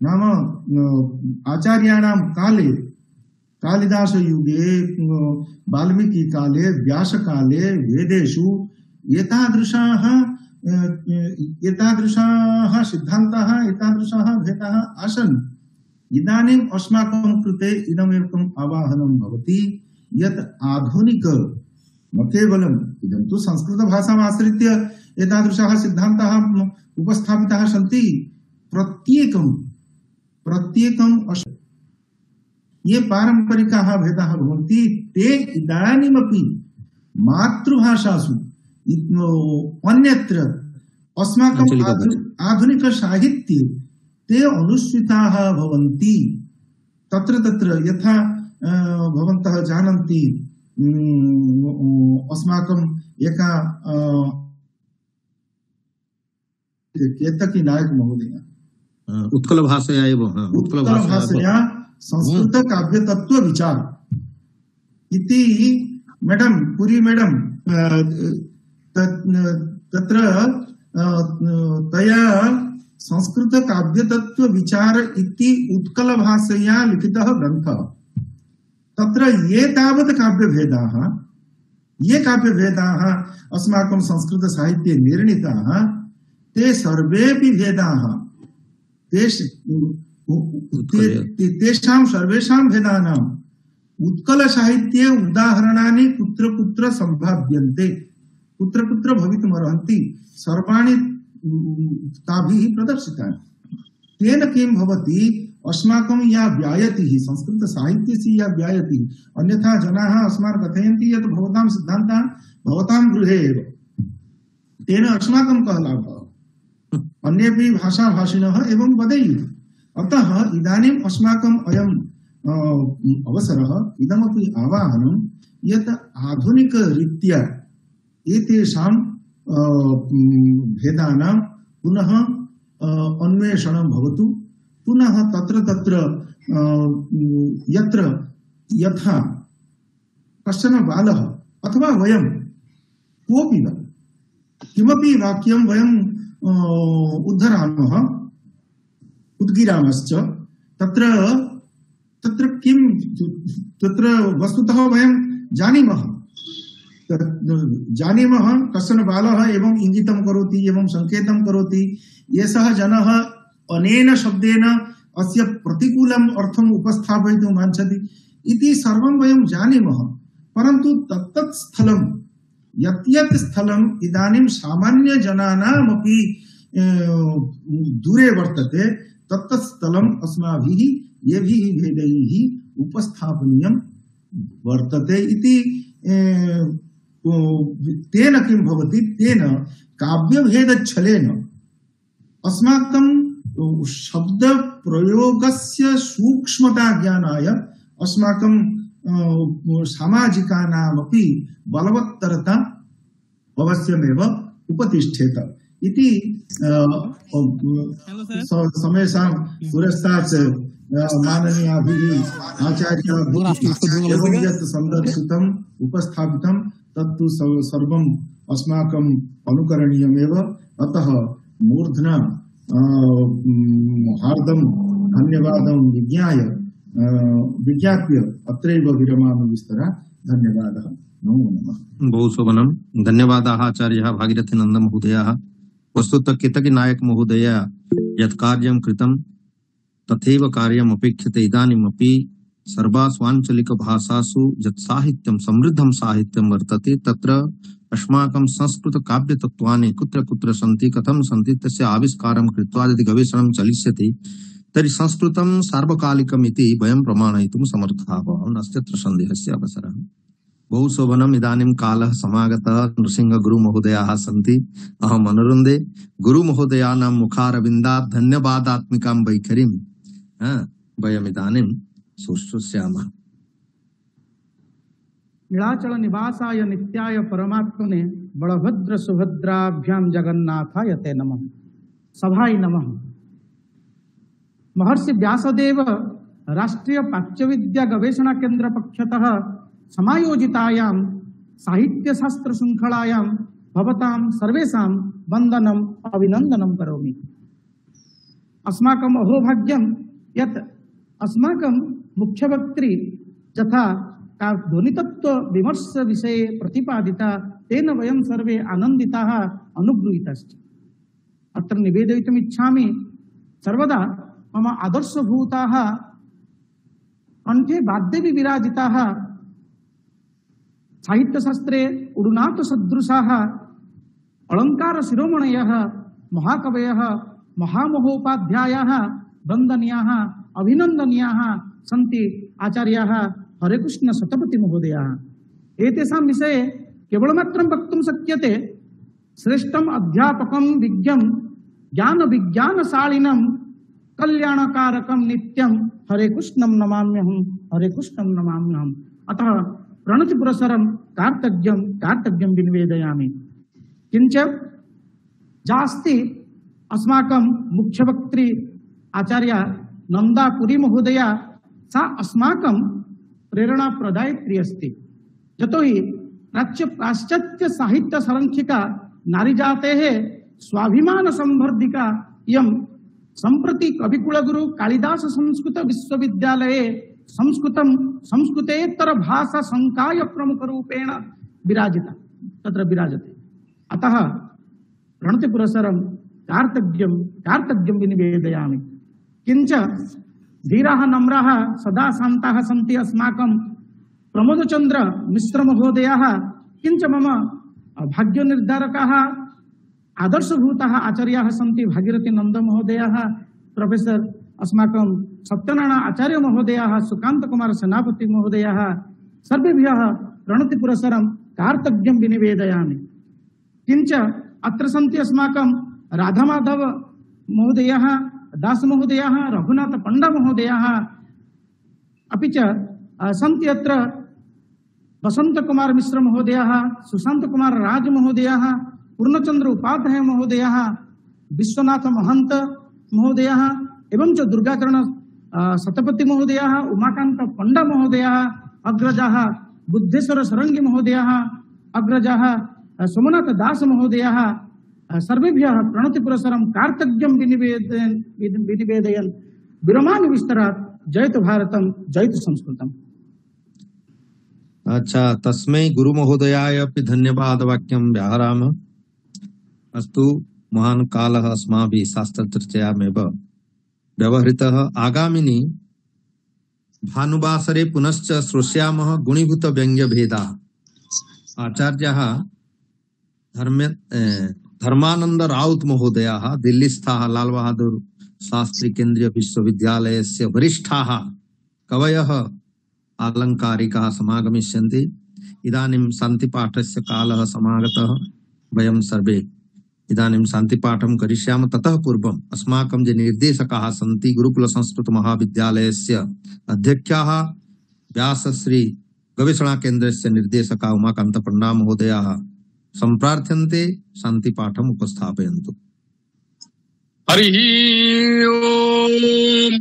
नाम आचार्याणां काले कालिदासयुगे वाल्मीकिकाले व्यासकाले वेदेषु एतादृशाः एतादृशाः सिद्धान्ताः एतादृशाः भेदाः आसन्। इदानीम् अस्माकं कृते इदमेकम् आवाहनं भवति यत् आधुनिक न केवलम् इदं तु संस्कृतभाषाम् आश्रित्य एतादृशाः सिद्धान्ताः उपस्थापिताः सन्ति। प्रत्येकं प्रत्येकं ये पारम्परिकाः भेदाः भवन्ति ते इदानीमपि मातृभाषासु अन्यत्र अस्माकं आधुनिक साहित्ये ते अनुसृताः भवन्ति। तत्र तत्र यथा भवन्तः जानन्ति अस्माकं एका केतकी नायक महोदय उत्कल भाषया एव उत्कल भाषया संस्कृत काव्य तत्व विचार इति मैडम पुरी मैडम तत्र तया संस्कृत काव्य तत्व विचार इति उत्कल भाषया लिखितः ग्रन्थः। तत्र ये तावत् काव्यभेदाः ये काव्यभेदाः अस्माकं संस्कृत साहित्ये निर्णीताः ते सर्वेपि भेदाः तेषां सर्वेषां भेदानाम् उत्कल साहित्ये उदाहरणानि कुत्र कुत्र सम्भाव्यन्ते कुत्र कुत्र भवितुमर्हन्ति सर्वाणि ताभिः प्रदर्शितानि। तेन किं भवति अस्माकं या व्यायतिः संस्कृत साहित्यस्य या व्यायतिः अन्यथा जनाः अस्मान् कथयन्ति यत् भवतां सिद्धान्तः भवतां गृहे एव तेन अस्माकं कः लाभः अन्येपि भाषाभाषिणः एवं वदेयुः। अतः इदानीम् अस्माकम् अयम् अवसरः इदमपि आवाहनं यत् आधुनिकरीत्या एतेषां भेदानां पुनः अन्वेषणं भवतु। पुनः तत्र तत्र यत्र यथा कश्चन बालः अथवा वयं कोऽपि वा किमपि वाक्यं वयं उद्धरामः उद्गिरामश्च तत्र तत्र किं तत्र वस्तुतः वयं जानीमः जानीमः कश्चन बालः एवं इंगितं करोति एवं संकेतं करोति एषः जनः अनेन शब्देन अस्य प्रतिकूलम् अर्थम् उपस्थापयितुं वाञ्छति इति सर्वं वयं जानीमः। परन्तु तत्तत् स्थलं यत् यत् स्थलम् इदानीं सामान्य जनानामपि दूरे वर्तते तत् स्थलम् अस्माभिः येभिः भेदैः उपस्थापनीयं वर्तते इति तेन किं भवति तेन काव्यभेदच्छलेन अस्माकं शब्द प्रयोगस्य सूक्ष्मता ज्ञानाय अस्माकं सामाजिकानामपि बलवत्तरता अवश्यमेव उपतिष्ठेत इति समेषां पुरस्तात् माननीयाभिः आचार्याभिः एवं यत् सन्दर्शितम् उपस्थापितं तत्तु सर्वम् अस्माकम् अनुकरणीयमेव। अतः मूर्ध्ना हार्दं धन्यवादं विज्ञाय विज्ञाप्य अत्रैव विरमामि विस्तरा। धन्यवादः। नमो नमः। बहु शोभनं। धन्यवादाः आचार्यः भागीरथीनन्द महोदयः। वस्तुतः केतकी नायक महोदय यत् कार्यं कृतं तथैव कार्यम् अपेक्षते। इदानीमपि सर्वासु आञ्चलिकभाषासु यत् साहित्यं समृद्धं साहित्यं वर्तते तत्र अस्माकं संस्कृत काव्य तत्त्वानि कुत्र कुत्र सन्ति कथं सन्ति तस्य आविष्कारं कृत्वा यदि गवेषणं चलिष्यति तर्हि संस्कृतं सार्वकालिकम् इति वयं प्रमाणयितुं समर्थाः भवामः। नास्त्यत्र सन्देहस्य अवसरः। बहु शोभनम्। इदानीं कालः समागतः। नृसिंह गुरुमहोदयाः सन्ति। अहम् अनुरुन्धे गुरुमहोदयानां मुखारविन्दात् धन्यवादात्मिकां वैखरीं वयमिदानीं शुश्रूषयामः। नीलाचल निवासाय नित्याय परमात्मने बलभद्र सुभद्राभ्यां जगन्नाथाय ते नमः। सभाय नमः। महर्षि व्यासदेव राष्ट्रीय प्राच्यविद्या गवेषणा केंद्र पक्षतः समायोजितायां साहित्य शास्त्र श्रृंखलायां भवतां सर्वेषां वन्दनम् अभिनन्दनं करोमि। अस्माकम् अहोभाग्यं यत् अस्माकं मुख्यवक्त्री यथा ध्वनितत्व विमर्श विषये प्रतिपादिता तेन वयं सर्वे आनन्दिताः अनुगृहीताश्च। अत्र निवेदयितुम् इच्छामि सर्वदा मम आदर्शभूताः कण्ठे वाद्येऽपि विराजिताः साहित्यशास्त्रे उडुनाथ सदृशाः अलङ्कार शिरोमणयः महाकवयः महामहोपाध्यायाः वन्दनीयाः अभिनन्दनीयाः सन्ति आचार्याः हरेकृष्ण शतपथी महोदयाः। एतेषां विषये केवलमात्रं वक्तुं शक्यते श्रेष्ठम् अध्यापकं विज्ञं ज्ञान विज्ञानशालिनं कल्याणकारकं नित्यं हरेकृष्णं नमाम्यहं हरेकृष्णं नमाम्यहम्। अतः प्रणतिपुरस्सरं कार्तज्ञं कार्तज्ञं विनिवेदयामि। किञ्च जास्ति अस्माकं मुख्यवक्त्री आचार्य नन्दापुरी महोदया सा अस्माकं प्रेरणाप्रदायित्री अस्ति। यतोहि प्राच्य पाश्चात्य साहित्य संरक्षिका नारीजातेः स्वाभिमान संवर्धिका इयं सम्प्रति कविकुलगुरु कालिदास संस्कृत विश्वविद्यालये संस्कृतं संस्कृतेतर भाषा संकाय प्रमुख रूपेण विराजिता तत्र विराजते। अतः प्रणतिपुरस्सरं कार्तज्ञं कार्तज्ञं विनिवेदयामि। किञ्च धीराः नम्राः सदा शान्ताः सन्ति अस्माकं प्रमोदचन्द्र मिश्र महोदयाः। किञ्च मम भाग्यनिर्धारकाः आदर्शभूताः आचार्याः सन्ति भागीरथीनन्द महोदयाः प्रोफेसर अस्माकं सत्यनारायण आचार्य महोदयाः सुकांत कुमार सेनापति महोदयाः सर्वेभ्यः प्रणतिपुरस्सरं कार्तज्ञं विनिवेदयामि। किञ्च अत्र सन्ति अस्माकं राधामाधव महोदयाः दास महोदयाः रघुनाथ पंडा महोदयाः अपि च सन्ति अत्र वसंत कुमार मिश्र महोदयाः सुशांत कुमार राज महोदयाः पूर्णचंद्र उपाध्याय महोदयाः विश्वनाथ महंत महोदयाः एवं च दुर्गाचरण शतपथी महोदयाः उमाकांत पंडा महोदयाः अग्रजाः बुद्धेश्वर सरंगी महोदयाः अग्रजाः सोमनाथ दास महोदयाः सर्वेभ्यः प्रणतिपुरस्सरं कार्तज्ञं विनिवेदयन् विनिवेदयन् विरमामि विस्तरात्। जयतु भारतं जयतु संस्कृतम्। अच्छा, तस्मै गुरुमहोदयाय अपि धन्यवाद वाक्यं व्याहरामः। अस्तु, महान् कालः अस्माभिः शास्त्रचर्चायामेव व्यवहृतः। आगामिनि भानुवासरे पुनश्च श्रोष्यामः गुणीभूत व्यङ्ग्यभेदाः। आचार्यः धर्म धर्मानंद राउत महोदयाः दिल्लीस्थाः लाल बहादुर शास्त्री केंद्रीय विश्वविद्यालयस्य वरिष्ठाः कवयः आलंकारिकाः समागमिष्यन्ति। इदानीं शान्तिपाठस्य कालः समागतः। वयं सर्वे इदानीं शान्तिपाठं करिष्यामः। ततः पूर्वम् अस्माकं ये निर्देशकाः सन्ति गुरुकुल संस्कृत महाविद्यालयस्य अध्यक्षाः व्यासश्री गवेषणा केन्द्रस्य निर्देशका उमाकान्त पण्डा महोदयाः सम्प्रार्थ्यन्ते शान्तिपाठम् उपस्थापयन्तु। हरिः ओम्।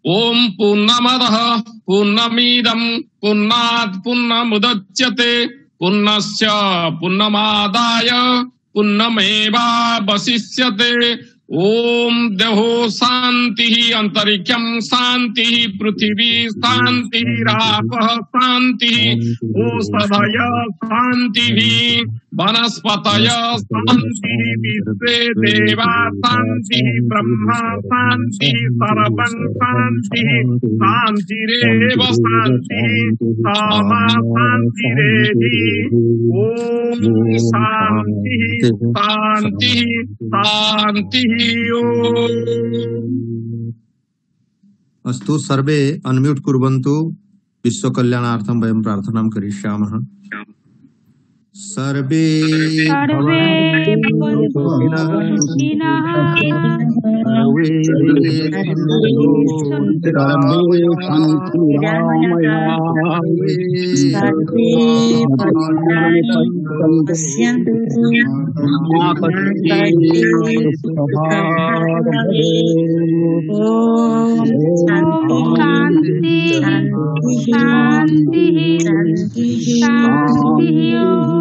ओम पूर्णमदः पूर्णमिदं पूर्णात् पूर्णमुदच्यते पूर्णस्य पूर्णमादाय पूर्णमेवावशिष्यते। ओम देहो शांतिः अंतरिक्षं शांतिः पृथिवी शांतिः रापः शांतिः ओषधयः शांतिः वनस्पतयः शांतिः विश्वे देवा शांतिः ब्रह्मा शांतिः सर्वं शांतिः शांतिरेव शांतिः सामा शांतिरेधि। ओम शांतिः शांतिः शांतिः। अस्तु सर्वे अनम्यूट कुर्वन्तु। विश्व कल्याणार्थं वयं प्रार्थनां करिष्यामः। सर्वे सर्वे भवन्तु सुखिनः सर्वे शांति शांति शांति।